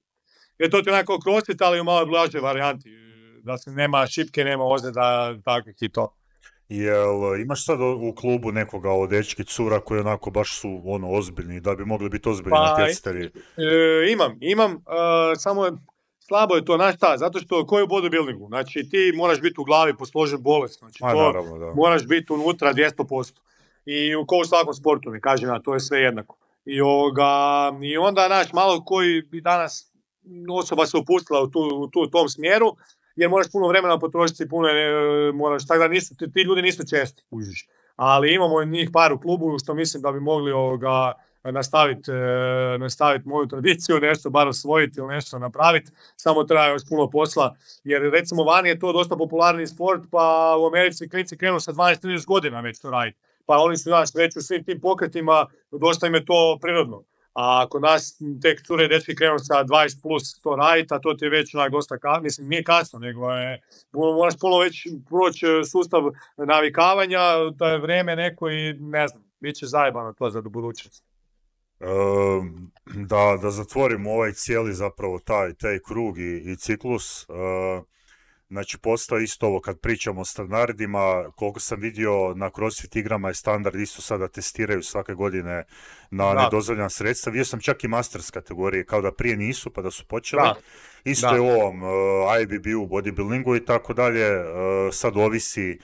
Jer to ti onako crossfit, ali u malo blaže varijanti, da se nema šipke, nema ozljeda, takvih i to. Jel imaš sad u klubu nekoga od dečki cura koji onako baš su ono ozbiljni, da bi mogli biti ozbiljni pa, natjecatelji? E, imam, imam, uh, samo je, slabo je to, znaš šta, zato što ko je u bodybuildingu, znači ti moraš biti u glavi posložen bolest, znači A, to naravno, da. moraš biti unutra dvjesto posto. I ko u svakom sportu, ne kažem ja, to je sve jednako. I, ovoga, i onda, znaš, malo koji bi danas osoba se upustila u, tu, u tu, tom smjeru, jer moraš puno vremena potrošiti, puno ne, moraš, tako da nisu, ti, ti ljudi nisu česti, užiš. Ali imamo njih par u klubu što mislim da bi mogli ovoga, nastaviti, e, nastaviti moju tradiciju, nešto bar osvojiti ili nešto napraviti, samo treba još puno posla, jer recimo vani je to dosta popularni sport, pa u Americi klinici krenu sa dvanaest trinaest godina već to raditi, pa oni su nas već u svim tim pokretima, dosta im je to prirodno. A kod nas tek cure i dečki krenu sa dvadeset plus to raditi, a to ti je već onak dosta kasno, mislim nije kasno, nego je, moraš puno već proći sustav navikavanja, to je vrijeme neko i ne znam, bit će zajebano to za budućnost. E, da, da zatvorimo ovaj cijeli zapravo taj, taj krug i, i ciklus, e, znači postoji isto ovo kad pričamo o standardima, koliko sam vidio na CrossFit igrama je standard isto sada testiraju svake godine na da. nedozvoljena sredstva. Vidio sam čak i Masters kategorije, kao da prije nisu pa da su počeli. Da. Isto da. je u ovom uh, I B B-u, bodybuildingu i tako dalje, uh, sad ovisi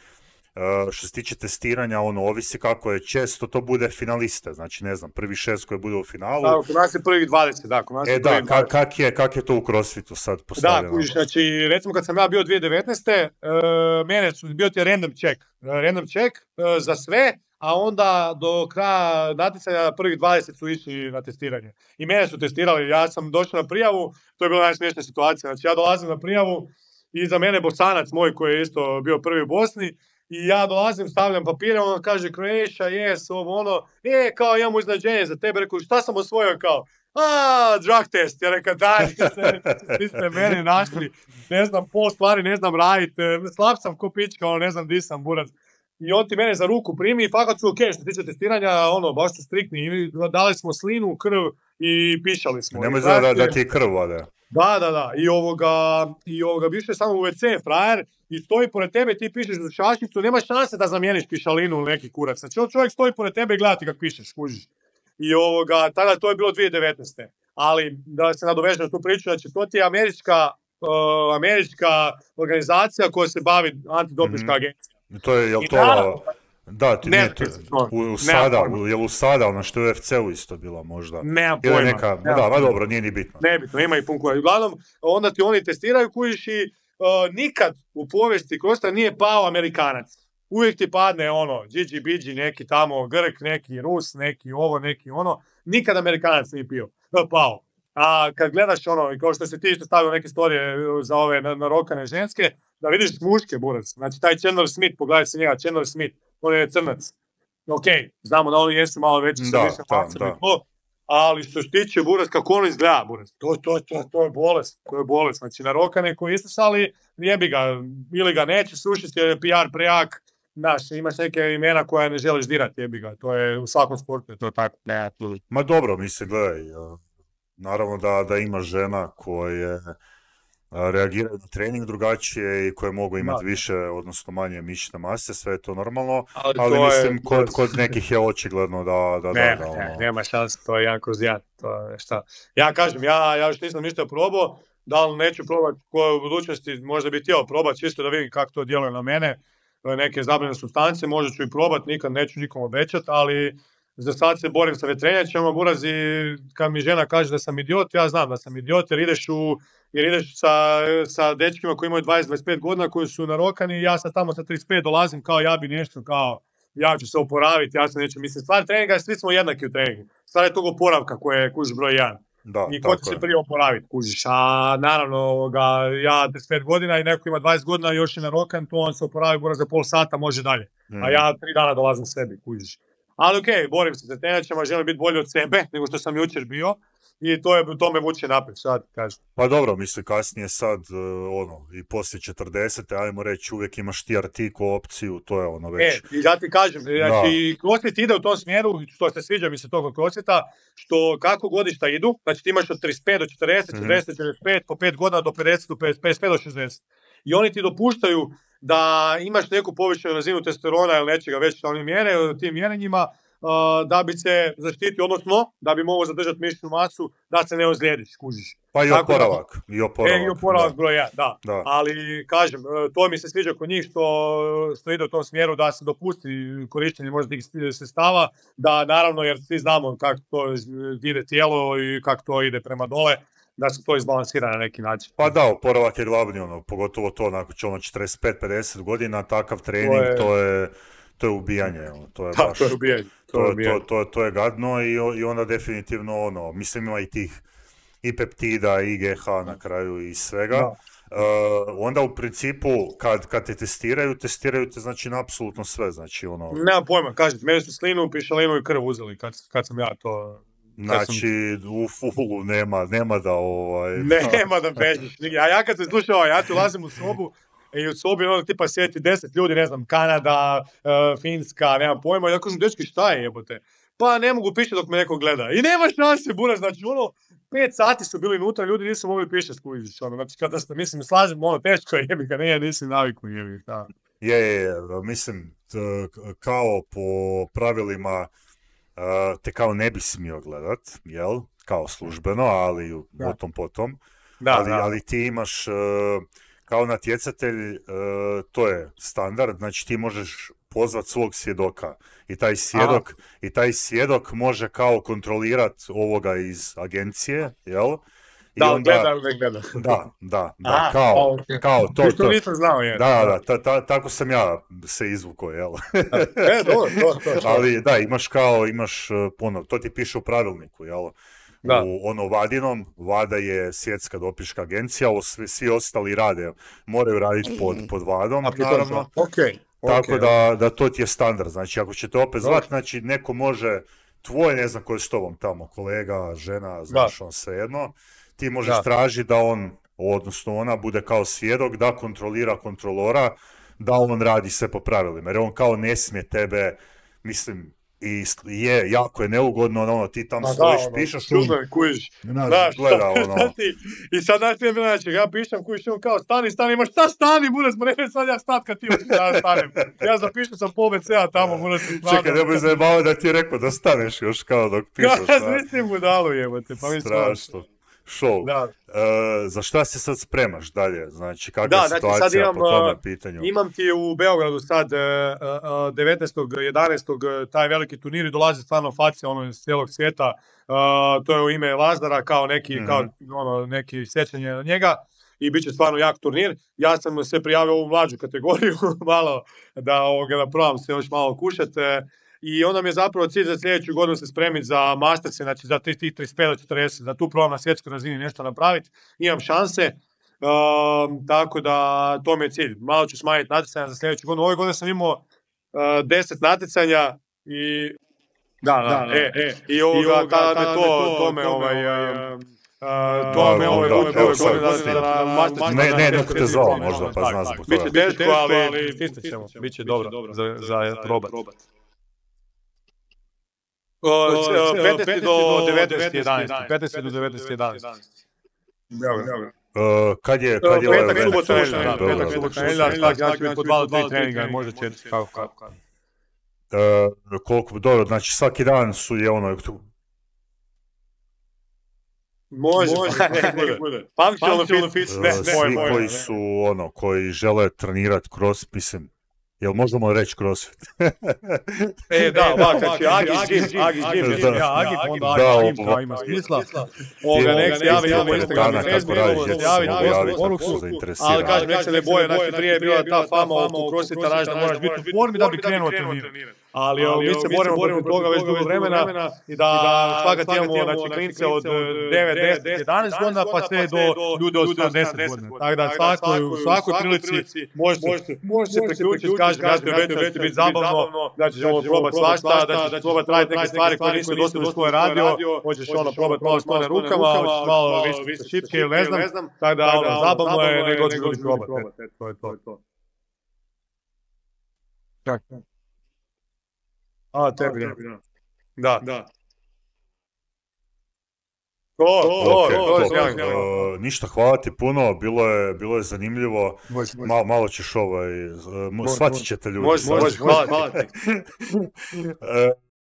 Uh, što se tiče testiranja, ono, ovisi kako je često to bude finaliste, znači ne znam, prvi šest koji bude u finalu. Da, kod nas je prvi dvadeset, da, kod nas e, je da, ka, kak, je, kak je to u CrossFitu sad postavljeno? Da, kužiš, znači, recimo kad sam ja bio dvije tisuće devetnaeste. Uh, mene su, bio ti je random check, uh, random check uh, za sve, a onda do kraja natjecanja prvih dvadeset su išli na testiranje. I mene su testirali, ja sam došao na prijavu, to je bila najsmiješnija situacija, znači ja dolazim na prijavu i za mene Bosanac moj koji je isto bio prvi u Bosni, i ja dolazim, stavljam papire, on kaže Croatia, yes, ovo ono, e, kao imamo iznadženje za tebe, rekao, šta sam osvojio, kao, a, drug test, ja rekao, daj, svi ste mene našli, ne znam, pol stvari, ne znam raditi, slab sam ko pička, ono, ne znam di sam, burac. I on ti mene za ruku primi i fakat su ok, što tiče testiranja, ono, baš su striktni, dali smo slinu, krv i pišali smo. Nemoj zove da, da ti je krv vode. Da, da, da, i ovoga, i ovoga, više samo u ve ce frajer i stoji pored tebe, ti pišeš za čašicu, nema šanse da zamijeniš pišalinu ili neki kurac. Znači, on čovjek stoji pored tebe i gleda ti kako pišeš, kužiš. I ovoga, tada to je bilo dvije tisuće devetnaeste. Ali, da se nadovežem na tu priču, znači, to ti je američka, uh, američka organizacija koja se bavi antidopinška mm-hmm. agencija. To je, jel to... Naravno, da, ti, ne, ne, to, u, u sada, u, je li u sada, ono što je u ef ce-u isto bilo možda? Nema pojma. Neka, nema da, ma dobro, nije ni bitno. Ne bitno, ima i pun koja. Uglavnom, onda ti oni testiraju kujiš i uh, nikad u povijesti Krosta nije pao Amerikanac. Uvijek ti padne ono, Gigi Bigi, neki tamo Grk, neki Rus, neki ovo, neki ono. nikad Amerikanac nije pio, pao. A kad gledaš ono, kao što se ti isto stavio neke storije za ove narokane ženske, da vidiš muške, burac. Znači, taj Chandler Smith, pogledaj se njega, Chandler Smith, on je crnac. Ok, znamo da oni jesu malo veći sa više facama i to, ali što se tiče burac, kako on izgleda, burac, to, to, to, to je bolest, to je bolest. Znači, narokane koji istisali, jebi ga, ili ga neće sušiti, jer je P R prejak, znaš, imaš neke imena koja ne želiš dirati, jebi ga, to je u svakom sportu, to je tako. Ne, Ma dobro, mislim, gledaj, naravno da, da ima žena koje reagiraju na trening drugačije i koje mogu imati da. više, odnosno manje mišićne mase, sve je to normalno, ali, ali to mislim, je, kod, kod nekih je očigledno da... da, ne, da, da ne, ono... nema šanse, to je jedan kroz jedan, to je šta. Ja kažem, ja, ja još nisam ništa probao, da li neću probati koje u budućnosti, možda bi htio probati, čisto da vidim kako to djeluje na mene, neke zabranjene supstance, možda ću i probati, nikad neću nikom obećati, ali za sad se borim sa vetrenjačama, buraz, i kad mi žena kaže da sam idiot, ja znam da sam idiot, jer ideš, u, jer ideš sa, sa dečkima koji imaju dvadeset do dvadeset pet godina, koji su narokani, i ja sad tamo sa trideset pet dolazim kao ja bi nešto, kao ja ću se oporaviti, ja se neću, mislim, stvar treninga, svi smo jednaki u treningu, stvar je tog oporavka koje je kužiš broj jedan. Da, i ko će se prije oporaviti, kužiš, a naravno ga, ja trideset pet godina i neko ima dvadeset godina još je narokan, to on se oporavi buraz za pol sata, može dalje, mm. a ja tri dana dolazim sebi, kužiš. Ali okej, okay, borim se sa trenačama, želim biti bolji od sebe nego što sam jučer bio i to, je, to me vuče naprijed, sad kažem. Pa dobro, mislim, kasnije sad, uh, ono, i poslije četrdesete, ajmo reći, uvijek imaš ti artiku opciju, to je ono već... E, i ja ti kažem, znači, CrossFit ide u tom smjeru, što se sviđa mi se tog CrossFita, što kako godišta idu, znači ti imaš od trideset pet do četrdeset, četrdeset do četrdeset pet, po pet godina do pedeset, do pedeset pet do šezdeset. I oni ti dopuštaju da imaš neku povišenu razinu testosterona ili nečega već na onim mjere, tim mjerenjima, uh, da bi se zaštitio, odnosno da bi mogao zadržati mišićnu masu, da se ne ozlijediš, kužiš. Pa i oporavak. Da, I oporavak, e, i oporavak broj jedan, da. da. Ali, kažem, to mi se sviđa kod njih što, što ide u tom smjeru da se dopusti korištenje možda tih sredstava, da naravno, jer svi znamo kako to ide tijelo i kako to ide prema dole, da se to izbalansira na neki način. Pa da, oporavak je glavni, ono, pogotovo to nakon će ono četrdeset pet pedeset godina, takav trening, to je, to je, to je ubijanje. Ono, to je da, baš, to je ubijanje. To, to, je ubijanje. To, to, to je gadno i, i onda definitivno, ono, mislim ima i tih i peptida, i G H na kraju i svega. Da. Uh, onda u principu, kad, kad te testiraju, testiraju te znači na apsolutno sve, znači ono... Nema pojma, kažete, meni su slinu, pišalinu i krv uzeli kad, kad sam ja to... Znači, sam... u fulu nema, nema da ovaj... Nema da bežiš. A ja kad se slušao, ja tu ulazim u sobu i u sobi ono tipa sjeti deset ljudi, ne znam, Kanada, uh, Finska, nema pojma. I ja kažem, dečki, šta je jebote? Pa ne mogu pišati dok me neko gleda. I nema šanse, buraz, znači ono, pet sati su bili unutra, ljudi nisu mogli pišati, skužiš, ono, znači kada ste, mislim, slažem, ono, teško je, jebika, nije, nisi naviku, jebika. Je, je, je, mislim, t, kao po pravilima, Uh, te kao ne bi smio gledat, jel? Kao službeno, ali o tom potom. Da, ali, da. ali ti imaš uh, kao natjecatelj, uh, to je standard, znači ti možeš pozvat svog svjedoka i taj svjedok, Aha. i taj svjedok može kao kontrolirat ovoga iz agencije, jel? I da, onda, gleda, ne gleda. Da, da, da, Aha, kao, okay. kao to, to. nisam znao, je. Da, da, ta, ta, tako sam ja se izvukao, jel? e, dobro, to, to, to. Ali da, imaš kao, imaš, ono, to ti piše u pravilniku, jel? Da. U ono Vadinom, Vada je svjetska dopinška agencija, ovo svi, svi ostali rade, moraju raditi pod, pod Vadom, A, naravno. Okay. Tako okay. da, da to ti je standard, znači ako ćete opet zvati, znači neko može, tvoj, ne znam ko je s tobom tamo, kolega, žena, znaš, da. on svejedno, ti možeš da. tražiti da on, odnosno ona, bude kao svjedok, da kontrolira kontrolora, da on radi sve po pravilima, jer on kao ne smije tebe, mislim, i je, jako je neugodno, ono, ti tamo Ma stojiš, da, ono, pišeš, čudno, kujiš, znaš, gleda, ono. I sad, znaš, ti je bilo, znači, ja pišem, kujiš, on kao, stani, stani, imaš, šta stani, bude smo, ne, sad ja stat kad ti ja stanem, ja zapišem sam pol B C-a tamo, bude se stvarno. Čekaj, ne bi zajebao da ti je rekao da staneš još kao dok pišeš. Ja, mislim budalu, jebote, pa mi strašno. Show. Da. Uh, za šta se sad spremaš dalje? Znači, kakva da, je situacija znači, imam, po tome pitanju? Imam ti u Beogradu sad uh, uh, devetnaestog jedanaestog taj veliki turnir i dolazi stvarno facija ono iz cijelog svijeta. Uh, to je u ime Lazdara kao neki, mm-hmm. kao, ono, neki sjećanje na njega i bit će stvarno jak turnir. Ja sam se prijavio u ovu mlađu kategoriju malo da, ovoga, da probam se još malo kušati. i onda mi je zapravo cilj za sljedeću godinu se spremiti za masterse, znači za tih trideset pet do četrdeset, da tu probam na svjetskoj razini nešto napraviti, imam šanse. Uh, tako da to mi je cilj. Malo ću smanjiti natjecanja za sljedeću godinu. Ove godine sam imao uh, deset natjecanja i da, da, da, e, e, i ovoga, tada me to, to me ovaj, to me ove godine da master. Ne, ne, neko te zvao možda, pa zna zbog toga. Biće teško, ali stisnut ćemo, biće dobro za probat. petnaesti do devetnaesti jedanaesti. petnaesti do devetnaesti jedanaesti. Uh, kad je, kad je uh, ovaj petak, event? subota, nedjelja, petak, subota, nedjelja, znači biti po dva do tri treninga, možda četiri, kako, kako. Uh, koliko, dobro, znači svaki dan su je ono, može, može, ne bude. Functional fitness, ne, ne, svi koji su, ono, koji žele trenirati crossfit, mislim, jel možemo reći crossfit? E, da, ovak, znači, Agis Gym, Agis Gym, ja, Agis, onda Agis Gym, kao ima smisla. Ovoga, nek se javi, imamo Instagram i Facebook, javiti, poslati poruku, ali kažem, nek se ne boje, znači, prije je bila ta fama oko crossfita, znaš da moraš biti u formi da bi krenuo trenirati. Ali mi se borimo protiv toga već dugo vremena i da svakad imamo, znači, klince od devet, deset, jedanaest godina pa sve do ljude od sedamdeset godina. Tako da u svakoj prilici možete se priključiti, kažem, ja te obećam da će biti zabavno, da ćemo probati svašta, da ćeš probati raditi neke stvari koje nisi do sada u škole radio, hoćeš ono probati malo stoje na rukama, hoćeš malo više šipke ili ne znam, tako da ono, zabavno je, nego ćeš ljudi probati. To je to. Tako. A, tebi, da. Da. To, to, to, to je uh, ništa, hvala ti puno, bilo je, bilo je zanimljivo, malo, malo ćeš ovaj, uh, shvatit ćete ljudi. Može, može, hvala ti.